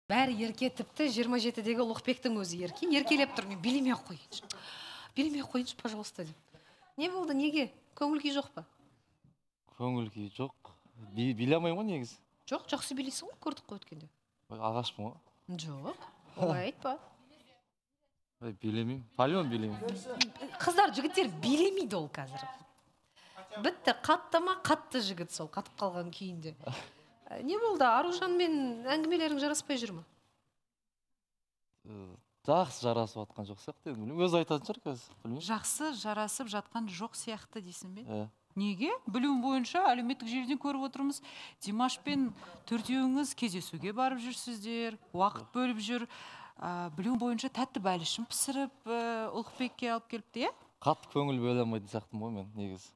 Бәрі ерке, тіпті 27-дегі Ұлықбектің өзі ерке. Еркелеп тұр, мен билемей қойыншы. Билемей қойыншы, пожалуйста, деп. Не болды, неге? Көңіл күй жоқ па? Көңіл күй жоқ. Биле алмаймын ғой негізі. Жоқ, жақсы билейсің ғой, көрдік қой өткенде. Ағашпын ғой. Жоқ, олай айтпа. Билемеймін. Палеон билемеймін. Қыздар, жігіттер билемейді ол қазір. Бітті, қатты ма, қатты жігіт сол, қатып қалған күйінде. Не болды, Аружанмен әңгімелерің жараспай жүр ме? Жақсы жарасып жатқан жоқ сияқты. Өзі айтатын шығар қазір. Жақсы жарасып жатқан жоқ сияқты дейсің бе? Неге? Білуім бойынша әлеуметтік желіден көріп отырмыз. Димашпен төртеуіңіз кездесуге барып жүрсіздер, уақыт бөліп жүр. Білуім бойынша тәтті бәлішін пісіріп, Ұлықбекке алып келіпті, е? Қатты көңіл бөле алмайтын сияқтымын ғой мен негізі.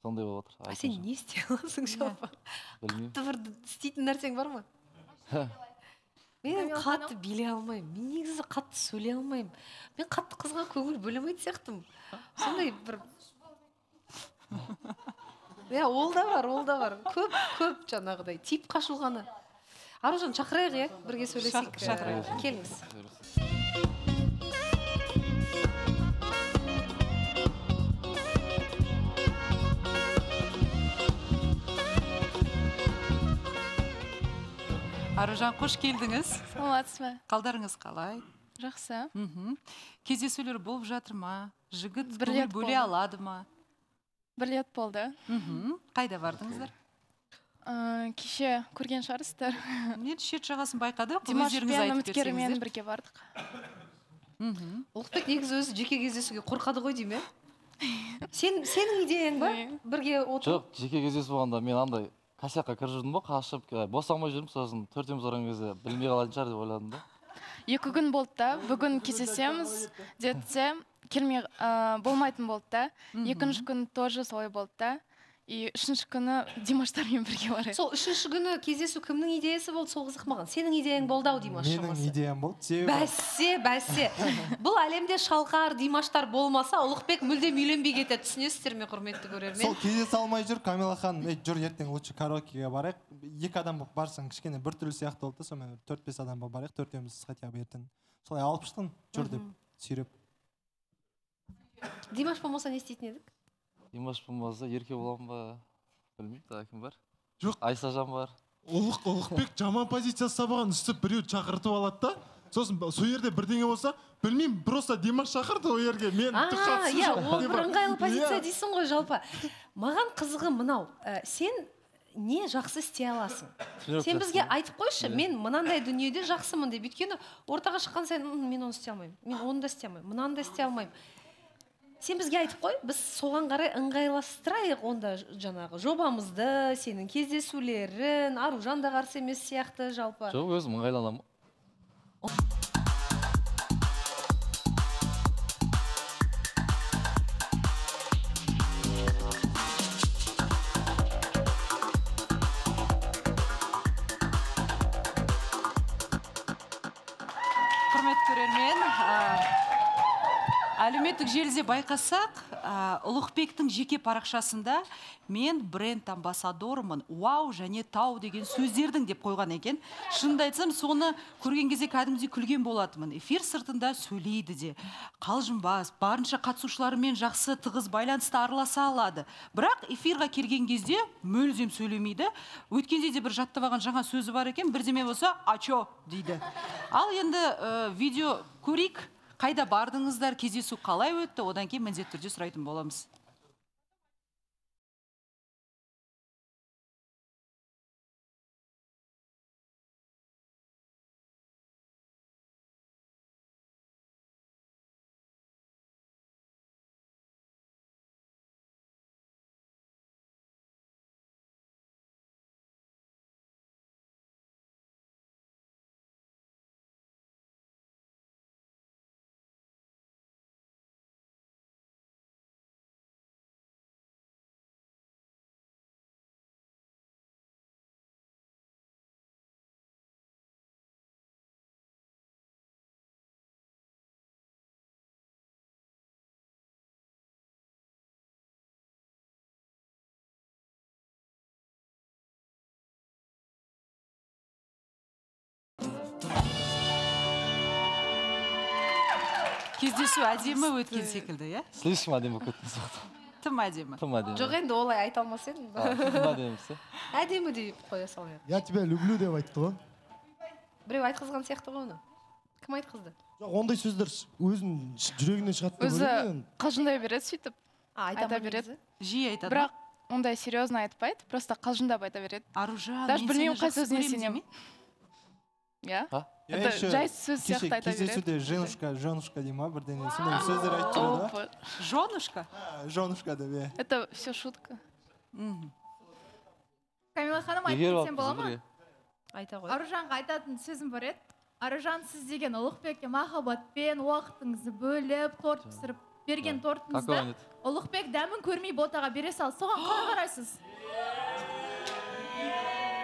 Сондай болып отыр. Сен не істей аласың жалпы? Қатты бір істейтін нәрсең бар ма? Мен қатты билей алмаймын. Мен негізі қатты сөйлей алмаймын. Мен қатты қызға көңіл бөлемейді сияқтым. Сондай бір... Ол да бар. Көп жаңағыдай. Тип қашылғаны. Аружан, шақырайық, е? Бірге сөйлесейік. Келіңіз. Аружан, қош келдіңіз. Саламатсыз ба? Қалдарыңыз қалай? Жақсы. Кездесулер болып жатыр ма? Жігіт көңіл бөле алады ма? 1 рет болды. Қайда бардыңыздар? Кеше көрген шығарсыздар. Мен шет жағасын байқадық. Димашпен үміткерімен бірге бардық. Ұлықбек негізі өзі жеке кездесуге қорқады ғой дейме? Сенің идеяң ба? Бірге отыр? Жоқ, жеке кездесу болғанда мен андай косякқа кіріп жүрдім ба, қашып, босамай жүрдім, сосын төртеуміз ұрған кезде білмей қалатын шығар деп ойладым да. 2 күн болды да, бүгін кездесеміз десе, келмей болмайтын болды да. 2-ші күн тоже солай болды да. И 3-ші күні Димаштармен бірге барайық. Сол 3-ші күні кездесу кімнің идеясы болды, сол қызық маған. Сенің идеяң болды ау, Димаш шамасы. Менің идеям болды. Бәсе. Бұл әлемде шалқар Димаштар болмаса, Ұлықбек мүлдем үйленбей кетеді. Түсінесіздер ме, құрметті көрермен? Сол кездесе алмай жүр, Камила ханым, жүр ертең лучше караокеге барайық. 2 адам болып барсаң, кішкене бір түрлі сияқты болды да, сонымен 4-5 адам болып барайық, төртеуміз хотя бы ертең. Солай алып шықтың, жүр деп сүйреп. Димаш болмаса не істейтін едік? Димаш болмаса ерке боламын ба? Білмеймін, кім бар? Жоқ. Айсажан бар. Ұлықбек жаман позиция сабаған үстіп біреу шақыртып алады да. Сосын сол жерде бірдеңе болса, білмеймін, просто Димаш шақырды ол жерге. Мен қатысы жоқ. Ол бір ыңғайлы позиция дейсің ғой жалпы. Маған қызығы мынау, сен не жақсы істей аласың? Сен бізге айтып қойшы, мен мынандай дүниеде жақсымын деп. Өйткені ортаға шыққан сайын мен оны істей алмаймын. Мен оны да істей алмаймын, мынаны да істей алмаймын. Сен бізге айтып қой, біз соған қарай ыңғайластырайық онда жаңағы жобамызды, сенің кездесулерін, Аружан да қарсы емес сияқты жалпы. Жоқ, өзім ыңғайланамын. Құрметті көрермен, әлеуметтік желіде байқасақ, Ұлықбектің жеке парақшасында мен бренд амбассадорымын, вау және тау деген сөздердің деп қойған екен. Шынымды айтсам, соны көрген кезде кәдімгідей күлген болатынмын. Эфир сыртында сөйлейді де, қалжыңбас, барынша қатысушыларымен жақсы тығыз байланыста араласа алады. Бірақ эфирға келген кезде мүлдем сөйлемейді. Өткенде де бір жаттап алған жаңа сөзі бар екен, бірдеме болса, ачо дейді. Ал енді видео көрейік. Қайда бардыңыздар, кездесу қалай өтті, одан кейін міндетті түрде сұрайтын боламыз. кездесу әдемі өткен секілді, иә? Слишком әдемі болып кеткен сияқты. Тым әдемі. Тым әдемі. жоқ енді олай айта алмас едім Тым әдемісі. әдемі деп қоя салайық Я тебя люблю деп айтты ғой. біреу айтқызған сияқты ғой оны кім айтқызды Жоқ, ондай сөздер өзінің жүрегінен шығады деп өзі ойлаймын. қалжыңдай береді сөйтіп айта береді. Жиі айтады. бірақ ондай серьезно айтпайды, просто қалжыңдап айта береді. Аружан, Даже мен білмеймін сені қай жақсы сөзіне көремін сенемін. демей? Иә. Это жай сөз сияқты айта береді. кездесуде женушка дей ма бірдеңе сондай сөздер айтып жүреді Опа. Жонушка? женушка деп иә Это все шутка. Камила ханым Егер айтып кетсем бола алып ма? бізге. айта ғой Аружанға айтатын сөзім бар еді. Аружан, сіз деген Ұлықбекке махаббатпен уақытыңызды бөліп, торт пісіріп берген Какой тортыңызды он еді? Ұлықбек дәмін көрмей ботаға бере сал. Соған қалай қарайсыз?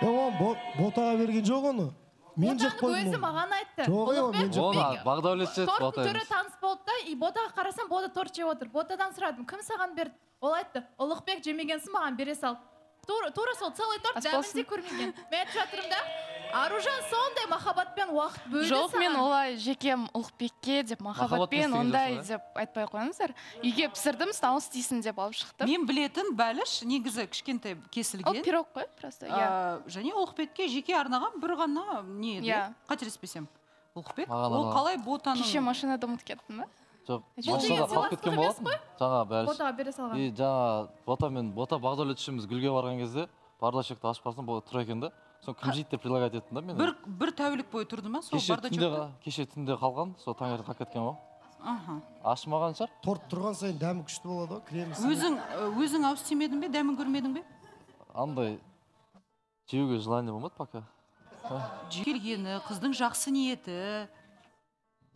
Оған ботаға берген жоқ оны. Мен жеп Ботаның қойдым. өзі маған айтты. Жоқ, мен Ұлықбек жеп Оны бағдәулет жеді, торттың бота түрі емес. таныс болды да, и ботаға қарасам, бота торт жеп отыр. Ботадан сұрадым, кім саған берді? Ол айтты, Ұлықбек жемегенсің, маған бере сал. Тура сол целый торт Ас дәмін болсын. де көрмеген. Мен айтып жатырмын да, Аружан сондай махаббатпен уақыт бөлді Жоқ, мен саған. олай жекем Ұлықбекке деп махаббатпен істеген ондай жоқсың, деп айтпай қойыңыздар. Үйге пісірдім, стал істейсің деп алып шықтым. Мен білетін бәліш негізі кішкентай Ол кесілген. пирог қой, просто. Иә. Және Ұлықбекке жеке арнаған бір ғана не еді? Иә. Қателеспесем. Ұлықбек, Маған ол арналған. қалай ботаның... Кеше машинада ұмытып кеттім ба? Жоқ, Бұл машинада деген қалып кеткен сыйластық болатын. Жаңа бәрі. Ботаға бере салған. И жаңа бота бағдәулет үшеуміз гүлге барған кезде бардачекті ашып қарасам бұл тұр екен да. Соны кім жейді деп предлагать еттім да мен. Бір тәулік бойы тұрды ма сол бардачокта? Кеше түнде қалған, сол таңертең қалып кеткен ғой. Аха. Ашымаған шығар. Торт тұрған сайын дәмі күшті болады ғой, кремі. Өзің ауыз тимедің бе, дәмін көрмедің бе? Андай жеуге желание болмады пока. Келгені, қыздың жақсы ниеті.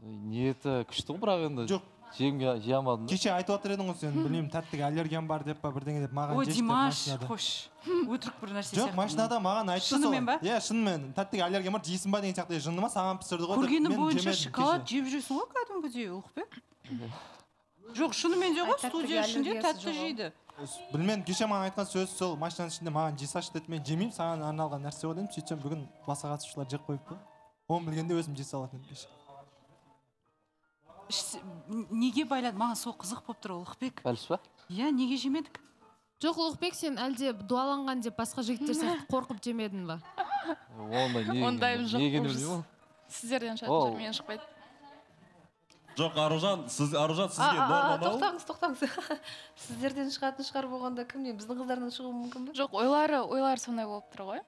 Ниеті күшті ғой бірақ енді. Жоқ. Жеуге жей алмадым. кеше айтып отыр едің ғой сен білмеймін тәттіге аллергиян бар деп па бірдеңе деп маған Ой, жешті Димаш, машинада. қош. Өтірік бір нәрсе жоқ машинада маған айтты сол Шынымен ба? иә шынымен тәттіге аллергия бар жейсің ба деген сияқты жынды ма саған пісірді ғой деп. Көргені Мен бойынша жемедім шоколад кеше. жеп жүрсің ғой кәдімгідей, Ұлықбек. Жоқ, шынымен де ғой, Тәттіге студия ішінде аллергиясы тәтті жоқ ол. жейді. білмеймін кеше маған айтқан сөз сол машинаның ішінде маған жей салшы деді мен жемеймін саған арналған нәрсе ғой дедім сөйтсем бүгін басқа қатысушылар жеп қойыпты оны білгенде өзім жей салатын едім кеше Неге байланды? Маған сол қызық болып тұр, Ұлықбек. Бәліш па? Иә, неге жемедік? Жоқ, Ұлықбек, сен әлде дуаланған деп басқа жігіттер сияқты қорқып жемедің ба? Ондайым жоқ. Негені білмеймін. Сіздерден Ол. шығатын жүр, мен шықпайды. Жоқ, Аружан сізге нормал. тоқтаңыз сіздерден шығатын шығар болғанда кімнен біздің қыздардан шығуы мүмкін бе Жоқ, ойлары сондай болып тұр ғой.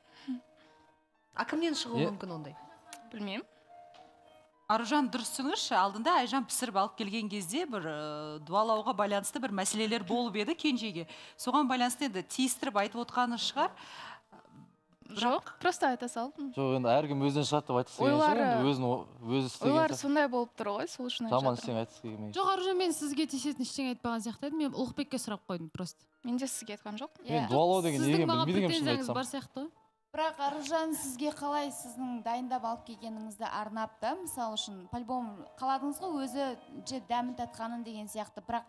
а кімнен шығуы мүмкін ондай Білмеймін. Аружан, дұрыс түсіңізші, алдында Айжан пісіріп алып келген кезде бір дуалауға байланысты бір мәселелер болып еді кенжеге. Соған байланысты енді тиістіріп айтып отқаны шығар. Жоқ, просто айта салдым. Жоқ, енді әркім өзінен шығады деп айтқысы келген шығар, енді өзі істеген Ойлары шығар. сондай болып тұр ғой, сол үшін Жаман айтып істен айтқысы келмей. Жоқ, Аружан, мен сізге тиісетін ештеңе айтпаған сияқты едім. Мен Ұлықбекке сұрақ қойдым просто. Мен де сізге айтқан жоқ. Мен дуалау деген Сіздің неге маған білмейді екенмін шын претензияңыз айтсам. бар сияқты ғой. Бірақ Аружан сізге қалай сіздің дайындап алып келгеніңізді арнап та, мысалы үшін, по-любому қаладыңыз ғой өзі жеп дәмін татқанын деген сияқты, бірақ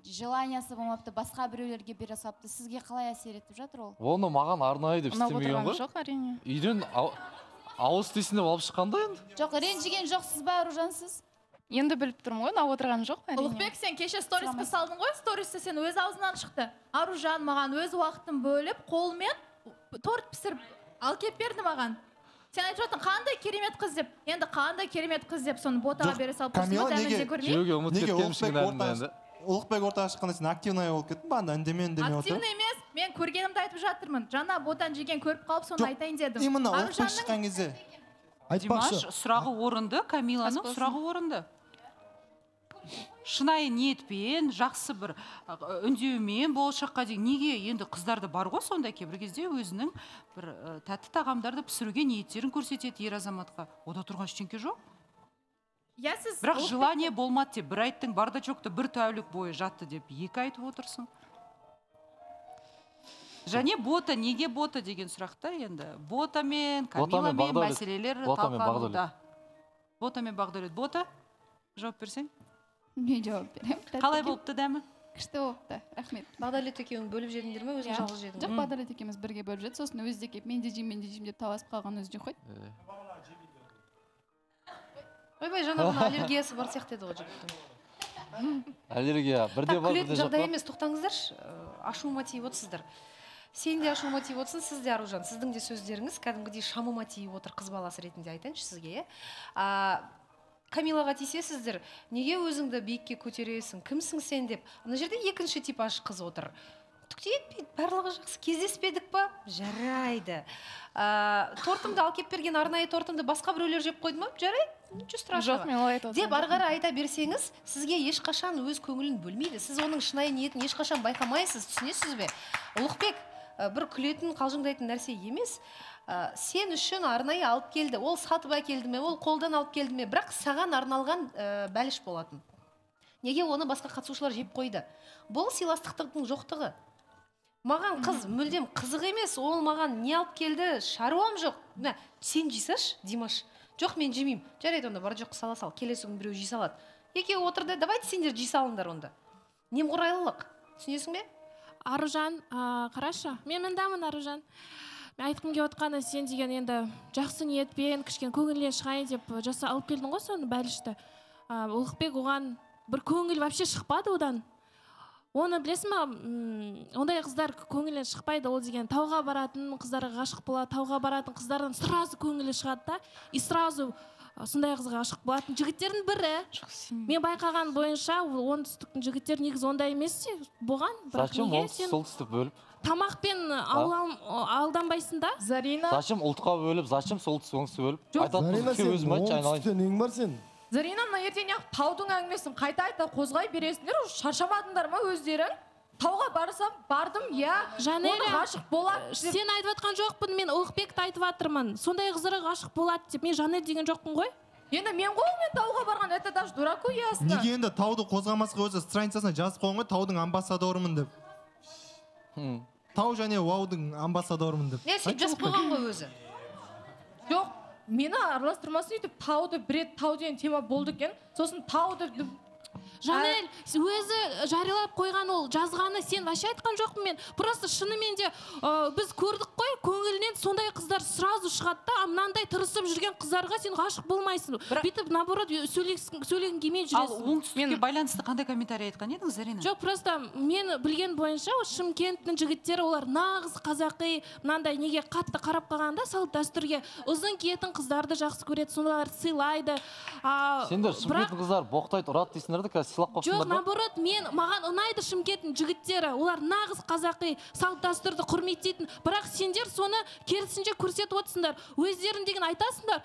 желаниясы болмапты, басқа біреулерге бере салыпты. Сізге қалай әсер етіп жатыр ол? Оны маған арнайы деп Ұнап істемеген отырған ғой. жоқ, әрине. Үйден ауыз тисін деп алып шыққанда енді. Жоқ, ренжіген жоқсыз ба, Аружан, сіз? Енді біліп тұрмын ғой, ұнап отырған жоқ, әрине. Ұлықбек, сен кеше сторисқа салдың ғой, стористі сен өз аузынан шықты. Аружан маған өз уақытын бөліп, қолмен торт пісіріп ал кеп берді маған. Сен айтып жатың, қандай керемет қыз деп. Енді қандай керемет қыз деп соны ботаға бере салып Камила, неге? Жеуге ұмытып кеткенмішін енді. Ұлықбек ортаға шыққанда сен активный болып кеттің ба анда үндемей отыр. Активный емес, мен көргенімді айтып жатырмын. Жаңа ботан жеген көріп қалып соны айтайын дедім. Именно Ұлықбек шыққан кезде. Димаш, Айтпақшы. сұрағы орынды, Камиланың сұрағы орынды. Шынайы ниетпен, жақсы бір үндеумен болашаққа дейін неге енді қыздарды бар ғой сондай кейбір кезде өзінің бір тәтті тағамдарды пісіруге ниеттерін көрсетеді ер азаматқа. Ода тұрған ештеңке жоқ. Иә, сіз Бірақ желание болмады деп, бір айттың бардачокты бір тәулік бойы жатты деп, екі айтып отырсың. Және бота, неге бота деген сұрақта енді. Ботамен, Камиламен мәселелер талқылануда. Ботамен бағдәулет. Бота, жауап берсең? Мен жауап берем. Қалай болыпты дәмі? Күшті болыпты, рахмет. бағдәулет екеуің бөліп жедіңдер ме өзің жалғыз жедің Жоқ, бағдәулет екеуміз бірге бөліп жеді, сосын өзі де келіп мен де жеймін деп таласып қалған өзі де қойды. ойбай жаңа ғана аллергиясы бар сияқты еді ғой жігіттің Әлерге бірде бар, бірде жоқ жағдай па? емес, тоқтаңыздаршы, ашуыма тиіп отырсыздар. Сен де ашуыма тиіп отырсың, сіз де Аружан, сіздің де сөздеріңіз кәдімгідей шамыма тиіп отыр, қыз баласы ретінде айтайыншы сізге. Камилаға тиісесіздер, неге өзіңді биікке көтересің, кімсің сен деп. Ана жерде екінші типаж қыз отыр. Түкте етпейді, барлығы жақсы, кездеспедік па? Жарайды. Тортымды алып кеп берген арнайы тортымды басқа біреулер жеп қойды ма? Жарайды. Ничего страшного. Жоқ, мен олай айтып деп ары қарай айта берсеңіз, сізге ешқашан өз көңілін бөлмейді. Сіз оның шынайы ниетін ешқашан байқамайсыз, түсінесіз бе? Ұлықбек бір күлетін, қалжыңдайтын нәрсе емес. Сен үшін арнайы алып келді. Ол сатып әкелді ме, ол қолдан алып келді ме, бірақ саған арналған бәліш болатын. Неге оны басқа қатысушылар жеп қойды? Бұл сыйластықтың жоқтығы. Маған қыз мүлдем қызық емес, ол маған не алып келді, шаруам жоқ. Сен жейсаш, Димаш? Жоқ, мен жемеймін. Жарайды, онда бар жоқ сала сал. Келесі күн біреу жей салады. Екеуі отырды, давайте сендер жей салыңдар онда. Немқұрайлылық. Түсінесің бе? Аружан, қарашы, мен мындамын, Аружан. Мен айтқым келіп отқаны, сен деген енді жақсы ниетпен, кішкене көңілінен шығайын деп жаса алып келдің ғой соны бәлішті. Ұлықбек оған бір көңіл вообще шықпады одан. Оны білесің ма, ондай қыздар көңілінен шықпайды, ол деген тауға баратын қыздарға ғашық болады, тауға баратын қыздардан сразу көңілі шығады да, и сразу сондай қызға ғашық болатын жігіттердің бірі. Мен байқаған бойынша оңтүстіктің жігіттері негізі ондай емес болған. Зачем солтүстік бөліп? Тамақпен алданбайсың да? Зарина. Зачем ұлтқа бөліп, зачем солтүстік оңтүстік бөліп? Зарина, сен оңтүстікте нең бар сен? Зарина, мына ертең таудың әңгімесін қайта қозғай бересіңдер, шаршамадыңдар ма өздерің? Тауға барсам, бардым, оны ғашық болады. Сен айтып атқан жоқпын, мен Ұлықбекті айтып атырмын. Сондай қызыры ғашық болады деп, мен Жанель деген жоқпын ғой. Енді мен тауға барған, это даже дураку ясно. Неге енді тауды қозғамасқа өзі страницасына жазып қойған ғой, таудың амбассадорымын деп. Тау және уаудың амбассадорымын деп. Сен жазып қойған ғой өзі. Жоқ, мені араластырмасын өйтіп, тауды бір тау деген тема болды екен. Сосын тауды... Жанель, өзі жариялап қойған ол жазғаны, сен вообще айтқан жоқпын мен. Просто шынымен де біз көрдік қой, көңілінен сондай қыздар сразу шығады да, мынандай тырысып жүрген қыздарға сен ғашық болмайсың. Бүйтіп наоборот сөйлегің келмей жүресің. Ал оңтүстікке байланысты қандай комментарий айтқан едіңіз, Зарина? Жоқ, просто мен білген бойынша Шымкенттің жігіттері олар нағыз қазақи, мынандай неге қатты қарап қалғанда салт дәстүрге ұзын киетін қыздарды жақсы көреді, солар сыйлайды. Сендер Шымкенттің қыздар боқтайды, ұрады дейсіңдер де, сыйлап қойсыңдар. Жоқ, наоборот, маған ұнайды Шымкенттің жігіттері, олар нағыз қазақи салт дәстүрді құрметтейтін, бірақ сендер соны керісінше көрсетіп отырсыңдар. Өздерің деген айтасыңдар,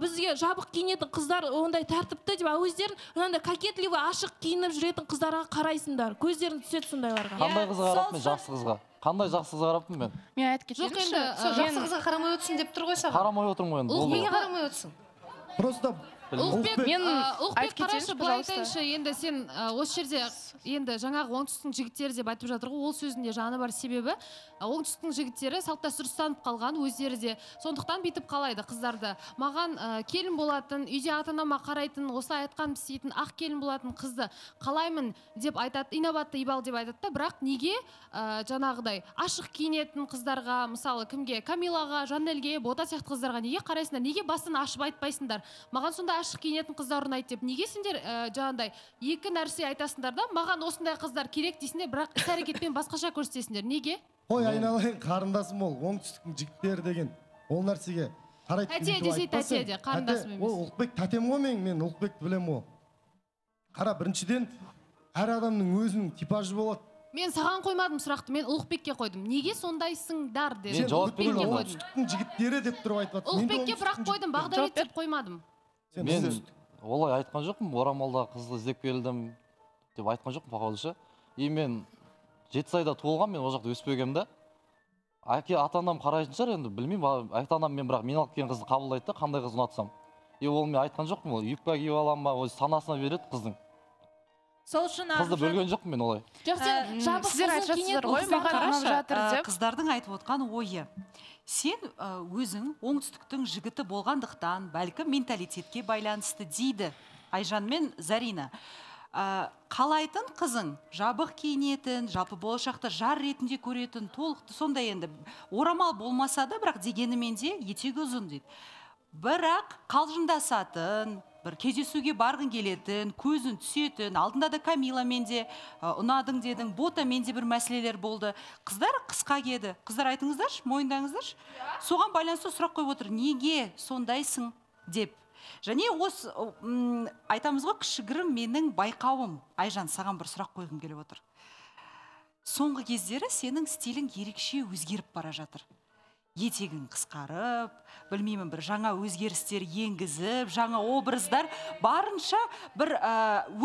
бізге жабық киінетін қыздар ондай тәртіпті деп, өздерің мынандай кокетливый ашық киініп жүретін қыздарға қарайсыңдар, көздерің түседі сондайларға. Қандай қызға қарап мен, жақсы қызға? Қандай жақсы қызға қараппын мен? Мен айтып кетейінші. Жақсы қызға қарамай өтсін деп тұр ғой саған. Қарамай отырмын ғой енді. Неге қарамай өтсін? Просто Ұлықбек, қарашы, былай айтайыншы, енді сен осы жерде енді жаңағы оңтүстіктің жігіттері деп айтып жатыр ғой, ол сөзінде жаны бар, себебі оңтүстіктің жігіттері салт дәстүр ұстанып қалған, өздері де сондықтан бүйтіп қалайды қыздарды. Маған келін болатын, үйде ата-анама қарайтын, осылай айтқан істейтін ақ келін болатын қызды қалаймын деп айтады, инабатты ибал деп айтады да, бірақ неге жаңағыдай ашық киінетін қыздарға, мысалы кімге, Камилаға, Жанельге, Бота сияқты қыздарға неге қарайсыңдар, неге басын ашып айтпайсыңдар? Маған сонда ашық киінетін қыздар ұнайды деп, неге сендер жаңағыдай екі нәрсе айтасыңдар да, маған осындай қыздар керек дейсіңдер, бірақ іс-әрекетпен басқаша көрсетесіңдер. Неге? Ой, айналайын, қарындасым ол, оңтүстіктің жігіттері деген ол нәрсеге қарайды. Тәте десе тәте де, қарындасым емес. Ол Ұлықбек тәтем ғой мен Ұлықбекті білем ғой. Қара, біріншіден әр адамның өзінің типажы болады. Мен саған қоймадым сұрақты, мен Ұлықбекке қойдым. Неге сондайсыңдар деп. Мен жауап бердім. Оңтүстіктің жігіттері деп тұрып айтып жатыр. Ұлықбекке бірақ қойдым, Бағдәулет деп қоймадым. Мен олай айтқан жоқпын, орамалда қызды іздеп келдім деп айтқан жоқпын пақалышы. И мен Жетісайда туылған, мен ол жақта өспегем да. Әке ата-анам қарайтын шығар, енді білмеймін, ата-анам мен бірақ мен алып келген қызды қабылдайды да, қандай қыз ұнатсам. И ол мен айтқан жоқпын, ол юбка киіп аламын ба, өзі санасына береді қыздың. Сол үшін қызды бөлген жоқпын мен олай. Сіздер айтып жатсыздар ғой, маған ұнап жатыр деп. Қыздардың айтып отқан ойы. Сен өзің оңтүстіктің жігіті болғандықтан, бәлкім менталитетке байланысты дейді Айжан мен Зарина. Қалайтын қызың жабық киінетін, жалпы болашақта жар ретінде көретін, толықты сондай енді орамал болмаса да, бірақ дегенімен де етегі ұзын дейді. Бірақ қалжыңдасатын, бір кездесуге барғың келетін, көзін түсетін, алдында да Камиламен де ұнадың дедің, Ботамен де бір мәселелер болды. Қыздар қысқа киеді. Қыздар айтыңыздаршы, мойындаңыздаршы. Соған байланысты сұрақ қойып отыр. Неге сондайсың деп. Және осы айтамыз ғой, кішігірім менің байқауым. Айжан, саған бір сұрақ қойғым келіп отыр. Соңғы кездері сенің стилің ерекше өзгеріп бара жатыр. Етегің қысқарып, білмеймін, бір жаңа өзгерістер енгізіп, жаңа образдар, барынша бір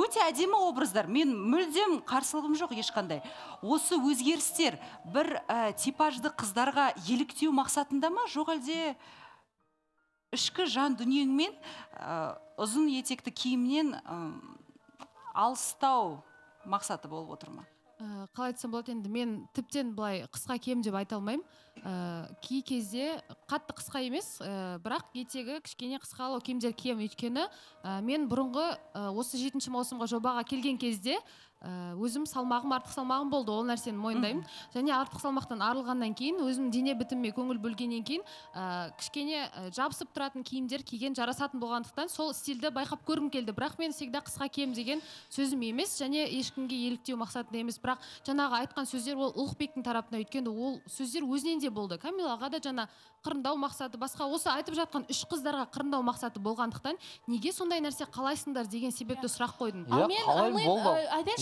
өте әдемі образдар. Мен мүлдем қарсылығым жоқ ешқандай. Осы өзгерістер бір типажды қыздарға еліктеу мақсатында ма, жоқ әлде ішкі жан дүниеңмен ұзын етекті киімнен алыстау мақсаты болып отыр ма? Қалай айтсам болады, енді мен тіптен былай қысқа киемін деп айта алмаймын. Кей кезде қатты қысқа емес, бірақ етегі кішкене қысқалау киімдер киемін. Өйткені мен бұрынғы осы 7 маусымға жобаға келген кезде өзім салмағым, артық салмағым болды, ол нәрсені мойындаймын. Және артық салмақтан арылғаннан кейін, өзім дене бітіміме көңіл бөлгеннен кейін, кішкене жабысып тұратын киімдер киген жарасатын болғандықтан сол стильді байқап көргім келді. Бірақ мен всегда қысқа киемін деген сөзім емес, және ешкімге еліктеу мақсатында емес. Бірақ жаңағы айтқан сөздер ол Ұлықбектің тарапынан, өйткені ол сөздер өзінен де болды. Камилаға да жаңа қырындау мақсаты, басқа осы айтып жатқан 3 қыздарға қырындау мақсаты болғандықтан, неге сондай нәрсе қалайсыңдар деген себепті сұрақ қойдым.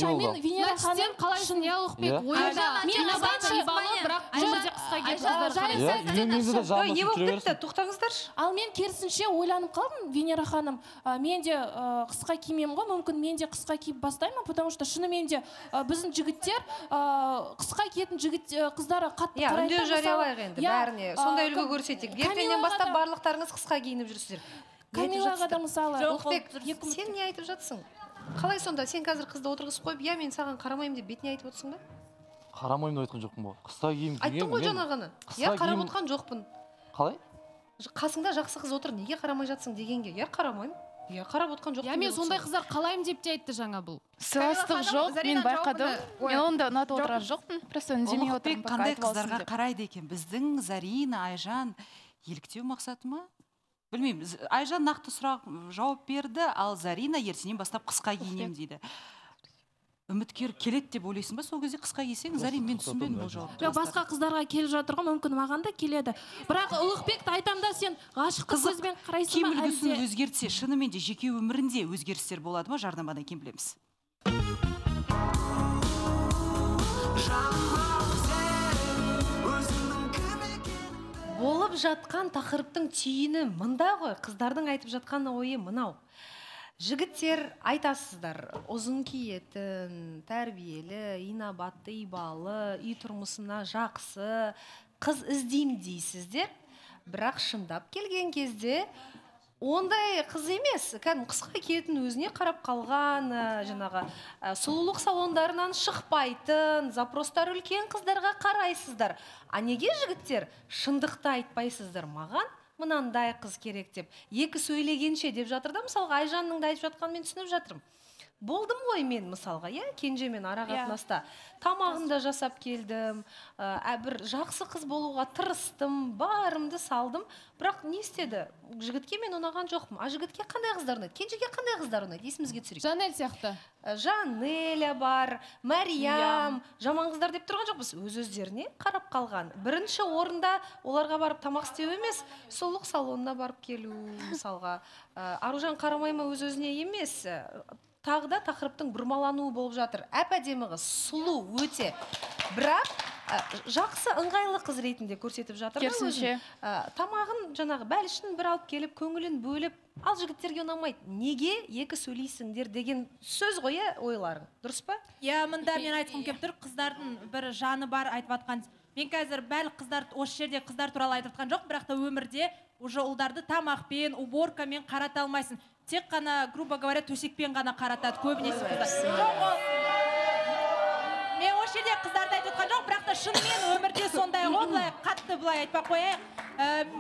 Мен Венера ханым қалайсың, иә Ұлықбек? Ойында инабатты ибалы, бірақ өмірде қысқа киіп қыздар не болып кетті? Тоқтаңыздаршы. Ал мен керісінше ойланып қалдым, Венера ханым, мен де қысқа киемін ғой, мүмкін мен де қысқа киіп бастаймын, потому что шынымен де біздің жігіттер қысқа киетін қыздары қатты қарайды. Үндеу жариялайық енді бәріне. Сондай үлгі көрсетейік. Ертеңнен бастап барлықтарыңыз қысқа киініп жүрсіздер. Камилаға да мысалы. Ұлықбек, сен не айтып жатсың? Қалай сонда? Сен қазір қызды отырғызып қойып, мен саған қарамаймын деп бетіне айтып отырсың ба? Қарамаймын деп айтқан жоқпын ғой. Қысқа киім деген. Айттың ғой жаңағыны. Қарап отқан жоқпын. Қалай? Қасыңда жақсы қыз отыр, неге қарамай жатсың дегенге. Қарамаймын. Қарап отқан жоқпын. Мен сондай қыздар қалаймын деп те айтты жаңа бұл. Сыйластық жоқ, мен байқадым. Мен онда ұнатып отырған жоқпын. Просто үндемей отырмын. Қандай қыздарға қарайды екен? Біздің Зарина, Айжан еліктеу мақсаты ма? Білмеймін, Айжан нақты сұрақ жауап берді, ал Зарина ертеңнен бастап қысқа киінемін дейді. Үміткер келеді деп ойлайсың ба, сол кезде қысқа кисең? Зарин, мен түсінбедім бұл жауапты. Жоқ, басқа қыздарға келіп жатыр ғой, мүмкін маған да келеді. Бірақ Ұлықбекті айтамда сен ғашықтық көзбен қарайсың ба? Киім үлгісін өзгертсе, шынымен де жеке өмірінде өзгерістер болады ма? Жарнамадан кейін білеміз. Болып жатқан тақырыптың түйіні мында ғой, қыздардың айтып жатқан ойы мынау. Жігіттер айтасыздар, ұзын киетін, тәрбиелі, инабатты, ибалы, үй тұрмысына жақсы, қыз іздеймін дейсіздер. Бірақ шындап келген кезде ондай қыз емес, кәдімгі қысқа киетін өзіне қарап қалған, жаңағы сұлулық салондарынан шықпайтын, запростар үлкен қыздарға қарайсыздар. А неге жігіттер шындықты айтпайсыздар? Маған мынандай қыз керек деп, екі сөйлегенше деп жатыр да, мысалға Айжанның да айтып жатқанын мен түсініп жатырмын. Болдым ғой мен мысалға, кенжемен ара қатынаста тамағымды жасап келдім, бір жақсы қыз болуға тырыстым, барымды салдым, бірақ не істеді? Жігітке мен ұнаған жоқпын. А жігітке қандай қыздар ұнайды? Кенжеге қандай қыздар ұнайды? Есімізге түсірейік. Жанель сияқты. Жанеля бар, Мәриям, жаман қыздар деп тұрған жоқпыз. Өз-өздеріне қарап қалған. Бірінші орында оларға барып тамақ істеу емес, сұлулық салонына барып келу, мысалға. Аружан қарамайма өз-өзіне емес. Тағы да тақырыптың бұрмалануы болып жатыр. Әп-әдемі қыз, сұлу өте. Бірақ жақсы ыңғайлы қыз ретінде көрсетіп жатыр. Керісінше. Тамағын жаңағы бәлішін бір алып келіп, көңілін бөліп, ал жігіттерге ұнамайды. Неге екі сөйлейсіңдер деген сөз ғой, ойларың. Дұрыс па? Мында мен айтқым келіп тұр, қыздардың бір жаны бар айтып атқан. Мен қазір бәл қыздар, осы жерде қыздар туралы айтып атқан жоқ, бірақ та өмірде уже ұлдарды тамақпен, уборкамен қарата алмайсың. Тек қана, грубо говоря, төсекпен ғана қаратады көбінесе қыздар. Мен осы жерде қыздарды айтып отқан жоқ, бірақ та шынымен өмірде сондай ғой, былай қатты былай айтпақ қояйық.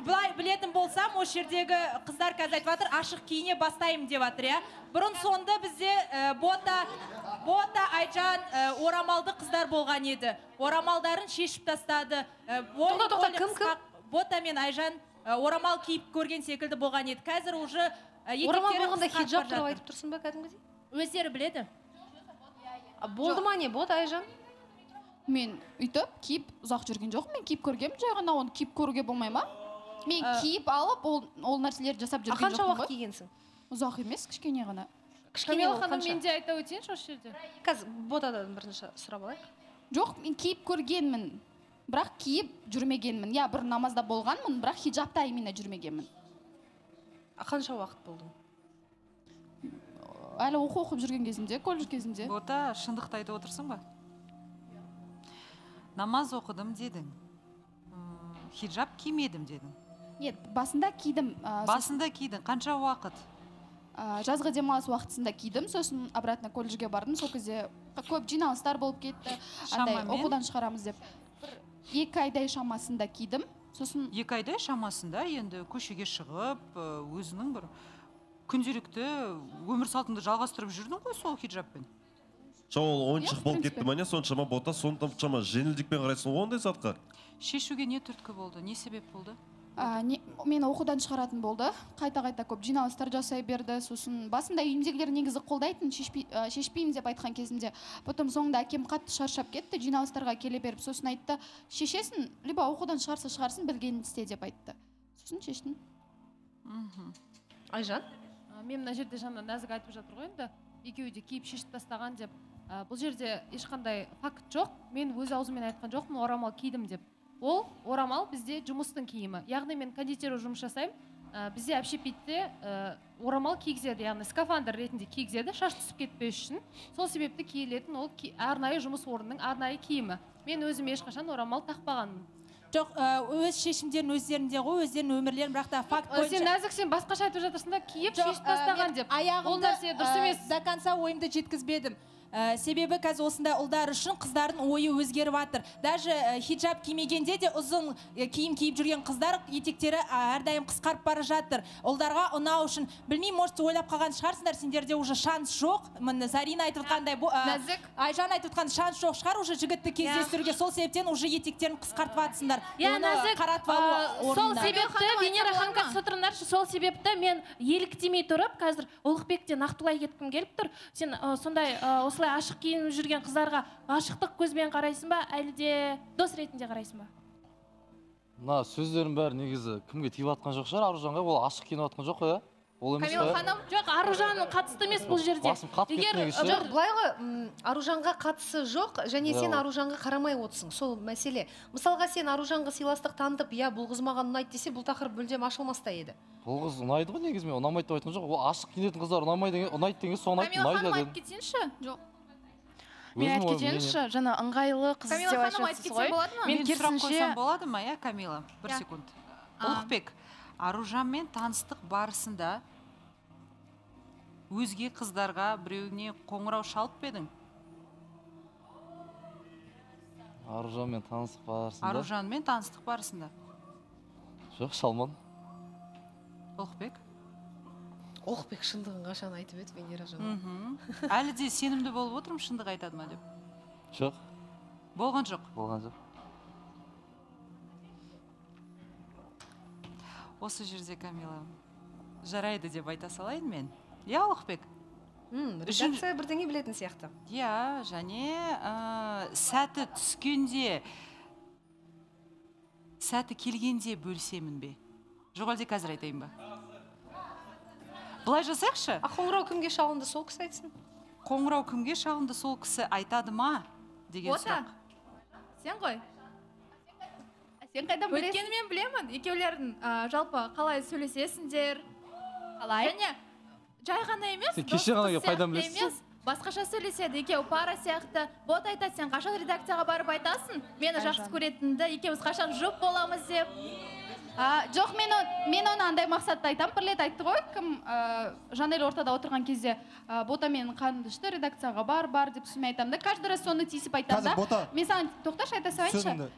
Былай білетін болсам, осы жердегі қыздар қазір айтып жатыр, ашық киіне бастаймын деп жатыр, Бұрын сонда бізде Бота, Айжан, орамалды қыздар болған еді. Орамалдарын шешіп тастады. Тоқта, кім? Бота мен Айжан орамал киіп көрген секілді болған еді. Қазір уже Орамал болғанда хиджаб туралы айтып тұрсың ба кәдімгідей? Өздері біледі. Болды ма не болды Айжан? Мен үйтіп киіп ұзақ жүрген жоқ, мен киіп көргем, жай ғана оны киіп көруге болмай ма? Мен киіп алып ол нәрселерді жасап жүрген жоқпын ғой. Қанша уақыт кигенсің? Ұзақ емес, кішкене ғана. Камила ханым, мен де айта өтейінші осы жерде. Қазір ботадан бірінші сұрап алайық. Жоқ, мен киіп көргенмін, бірақ киіп жүрмегенмін. Я, бір намазда болғанмын, бірақ хиджабта именно жүрмегенмін. Қанша уақыт болдың? Әлі оқып жүрген кезімде, колледж кезімде. Бота, шындықты айтып отырсың ба? Намаз оқыдым дедің. Хиджаб кимедім дедің. Нет, басында кидім. Басында кидің. Қанша уақыт? Жазғы демалыс уақытысында кидім, сосын обратно колледжге бардым. Сол кезде көп жиналыстар болып кетті. Андай оқудан шығарамыз деп. 2 айдай шамасында кидім. Сосын 2 айдай шамасында енді көшеге шығып, өзінің бір күнделікті өмір салтыңды жалғастырып жүрдің ғой сол хиджабпен. Ол ойыншық болып кетті ма не, соншама бота, соншама жеңілдікпен қарайсың ғой ондай затқа? Шешуге не түрткі болды, не себеп болды? Мені оқудан шығаратын болды. Қайта-қайта көп жиналыстар жасай берді. Сосын басында үйімдегілер негізі қолдайтын, шешпеймін деп айтқан кезінде. Потом соңында әкем қатты шаршап кетті, жиналыстарға келе беріп. Сосын айтты, шешесін, либо оқудан шығарсын, білгенін істе деп айтты. Сосын шештім. Айжан? Мен мына жерде жаңа нәзік айтып жатыр ғой енді. Екеуі де киіп шешіп тастаған деп. Бұл жерде ешқандай факт жоқ. Мен өз аузыммен айтқан жоқпын, орамал кидім деп. Ол орамал бізде жұмыстың киімі. Яғни мен кондитер жұмыс жасаймын. Бізде общепитте орамал кигізеді, яғни скафандр ретінде кигізеді, шаш түсіп кетпес үшін. Сол себепті киілетін ол арнайы жұмыс орнының арнайы киімі. Мен өзім ешқашан орамал тақпағанмын. Жоқ, өз шешімдерін өздерінде ғой, өздерінің өмірлерін, бірақ та факт бойынша. Сен нәзік, сен басқаша айтып жатырсың да, киіп шешіп тастаған деп. Ол нәрсе дұрыс емес. До конца ойымды жеткізбедім. Себебі қазір осындай ұлдар үшін қыздардың ойы өзгеріп жатыр. Даже хиджаб кимегенде де ұзын киім киіп жүрген қыздар етектері әрдайым қысқарып бара жатыр. Ұлдарға ұнау үшін. Білмеймін, может ойлап қалған шығарсыңдар, сендерде уже шанс жоқ. Міне Зарина айтып отқандай, Айжан айтып отқан шанс жоқ шығар уже жігітті кездестіруге. Сол себептен уже етектерін қысқартып жатсыңдар. Сол себепті Венера ханым қатысып отырыңдаршы, сол себепті мен еліктемей тұрып, қазір Ұлықбекте нақтылай кеткім келіп тұр. Сен сондай осылай ашық киініп жүрген қыздарға ғашықтық көзбен қарайсың ба, әлде дос ретінде қарайсың ба? Мына сөздердің бәрі негізі кімге тиіп жатқан жоқ шығар, Аружанға. Ол ашық киініп жатқан жоқ қой, ол емес Камила ханым, жоқ, Аружанның қатысты емес бұл жерде. Басым қатып кетті негізі. Жоқ, былай ғой, Аружанға қатысы жоқ, және сен Аружанға қарамай отырсың. Сол мәселе. Мысалға сен Аружанға сыйластық танытып, я бұл қыз маған ұнайды десе, бұл тақырып мүлдем ашылмас та еді. Бұл қыз ұнайды ғой негізі, мен ұнамайды деп айтқан жоқ. Ол ашық киінетін қыздар ұнайды деген соны айтып ұнайды. Камила ханым айтып кетсеңші? Жоқ. Мен айтып кетейінші, жаңа ыңғайлы қыз деп айтып ғой. Мен сұрақ қойсам болады ма, иә, Камила? Бір секунд. Ұлықбек, Аружанмен таныстық барысында өзге қыздарға біреуіне қоңырау шалып бедің? Аружанмен таныстық барысында? Аружанмен таныстық барысында. Жоқ, шалмадым. Ұлықбек? Ұлықбек шындығын қашан айтып еді, Венера жаны. Әлі де сенімді болып отырмын, шындық айтады ма деп? Жоқ. Болған жоқ? Болған жоқ. Осы жерде, Камила, жарайды деп айта салайын мен. Я, Ұлықбек? Редакция бірдеңе білетін сияқты. Я, және сәті түскенде, сәті келгенде бөлсемін бе? Жоқ, әлде қазір айтайын ба? Бұлай жасайықшы? Қоңырау кімге шалынды, сол кісі айтсын? Қоңырау кімге шалынды, сол кісі айтады ма? Деген сұрақ. Сен ғой? Сен қайдан білесің? Өткені мен білемін. Екеулердің жалпы қалай сөйлесесіңдер? Қалай? Және жай ғана емес, кеше ғана пайдам білесіз? Басқаша сөйлеседі, екеу пара сияқты. Бот айтады, сен қашан редакцияға барып айтасың? Мені жақсы көретінді, екеуіз қашан жұп боламыз деп. Жоқ, мен оны андай мақсатта айтам, бір рет айтты ғой, кім Жанель ортада отырған кезде бота мен қандышты редакцияға бар деп сөйме айтам да, каждый раз соны тиісіп айтам да. Мен саған тоқташы айта салайыншы.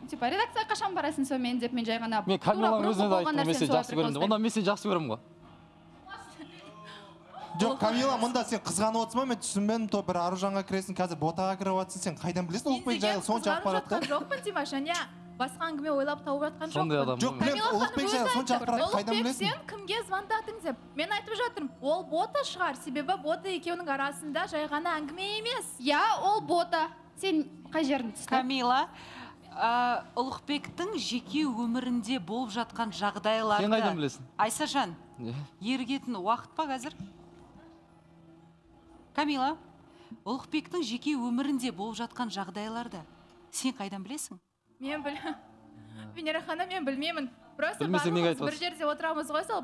Типа редакцияға қашан барасың сонымен деп мен жай ғана. Мен Камиланың өзіне де айттым, мен сені жақсы көремін деп. Онда мен сені жақсы көремін ғой. Жоқ, Камила, мұнда сен қызғанып отырсың ба? Мен түсінбедім, то бір Аружанға кіресің, қазір ботаға кіріп жатсың, сен қайдан білесің Ұлықбек жайлы сонша ақпаратты? Жоқпын, Димаш, және басқа әңгіме ойлап тауып жатқан Сондай жоқпын. адам Жоқ, білем, Ұлықбек сен сонша ақпаратты қайдан Ұлықбек, білесің? сен кімге звондадың деп. Мен айтып жатырмын, ол бота шығар, себебі бота екеуінің арасында жай ғана әңгіме емес. Я, ол бота. Сен қай жерін түсті? Камила, Ұлықбектің жеке өмірінде болып жатқан жағдайларды... Сен қайдан білесің? Айсажан, ерігетін уақыт па қазір? Камила, Ұлықбектің жеке өмірінде болып жатқан жағдайларды сен қайдан білесің? Мен білмеймін. Венера ханым, мен білмеймін. Просто Білмесең неге барлығымыз айтып бір жерде отырамыз ғой, сол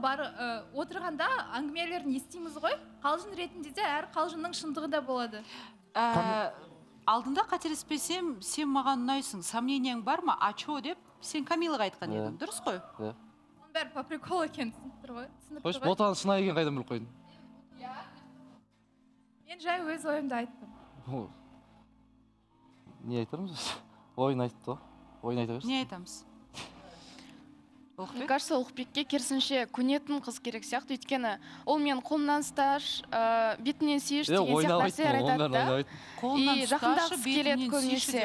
отырғанда әңгімелерін естиміз ғой. Қалжың ретінде де әр қалжыңның шындығы да болады. Алдында қателеспесем, сен маған ұнайсың, сомненияң бар ма? А чо деп сен Камилаға айтқан едің, дұрыс қой? Оның бәрі по приколу екен, түсініп тұр ғой. Қойшы, ботаның шынайы екенін қайдан біліп қойдың? Мен жай өз ойымды айттым. Не айтармыз? Ойын айтты ғой. Ойын айта берсін. Не айтамыз? Мне кажется, Ұлықбекке керісінше көнетін қыз керек сияқты, өйткені ол мен қолымнан ұсташ, бетінен сүйіш деген сияқты нәрселер айтады да. И жақындағысы келеді көбінесе.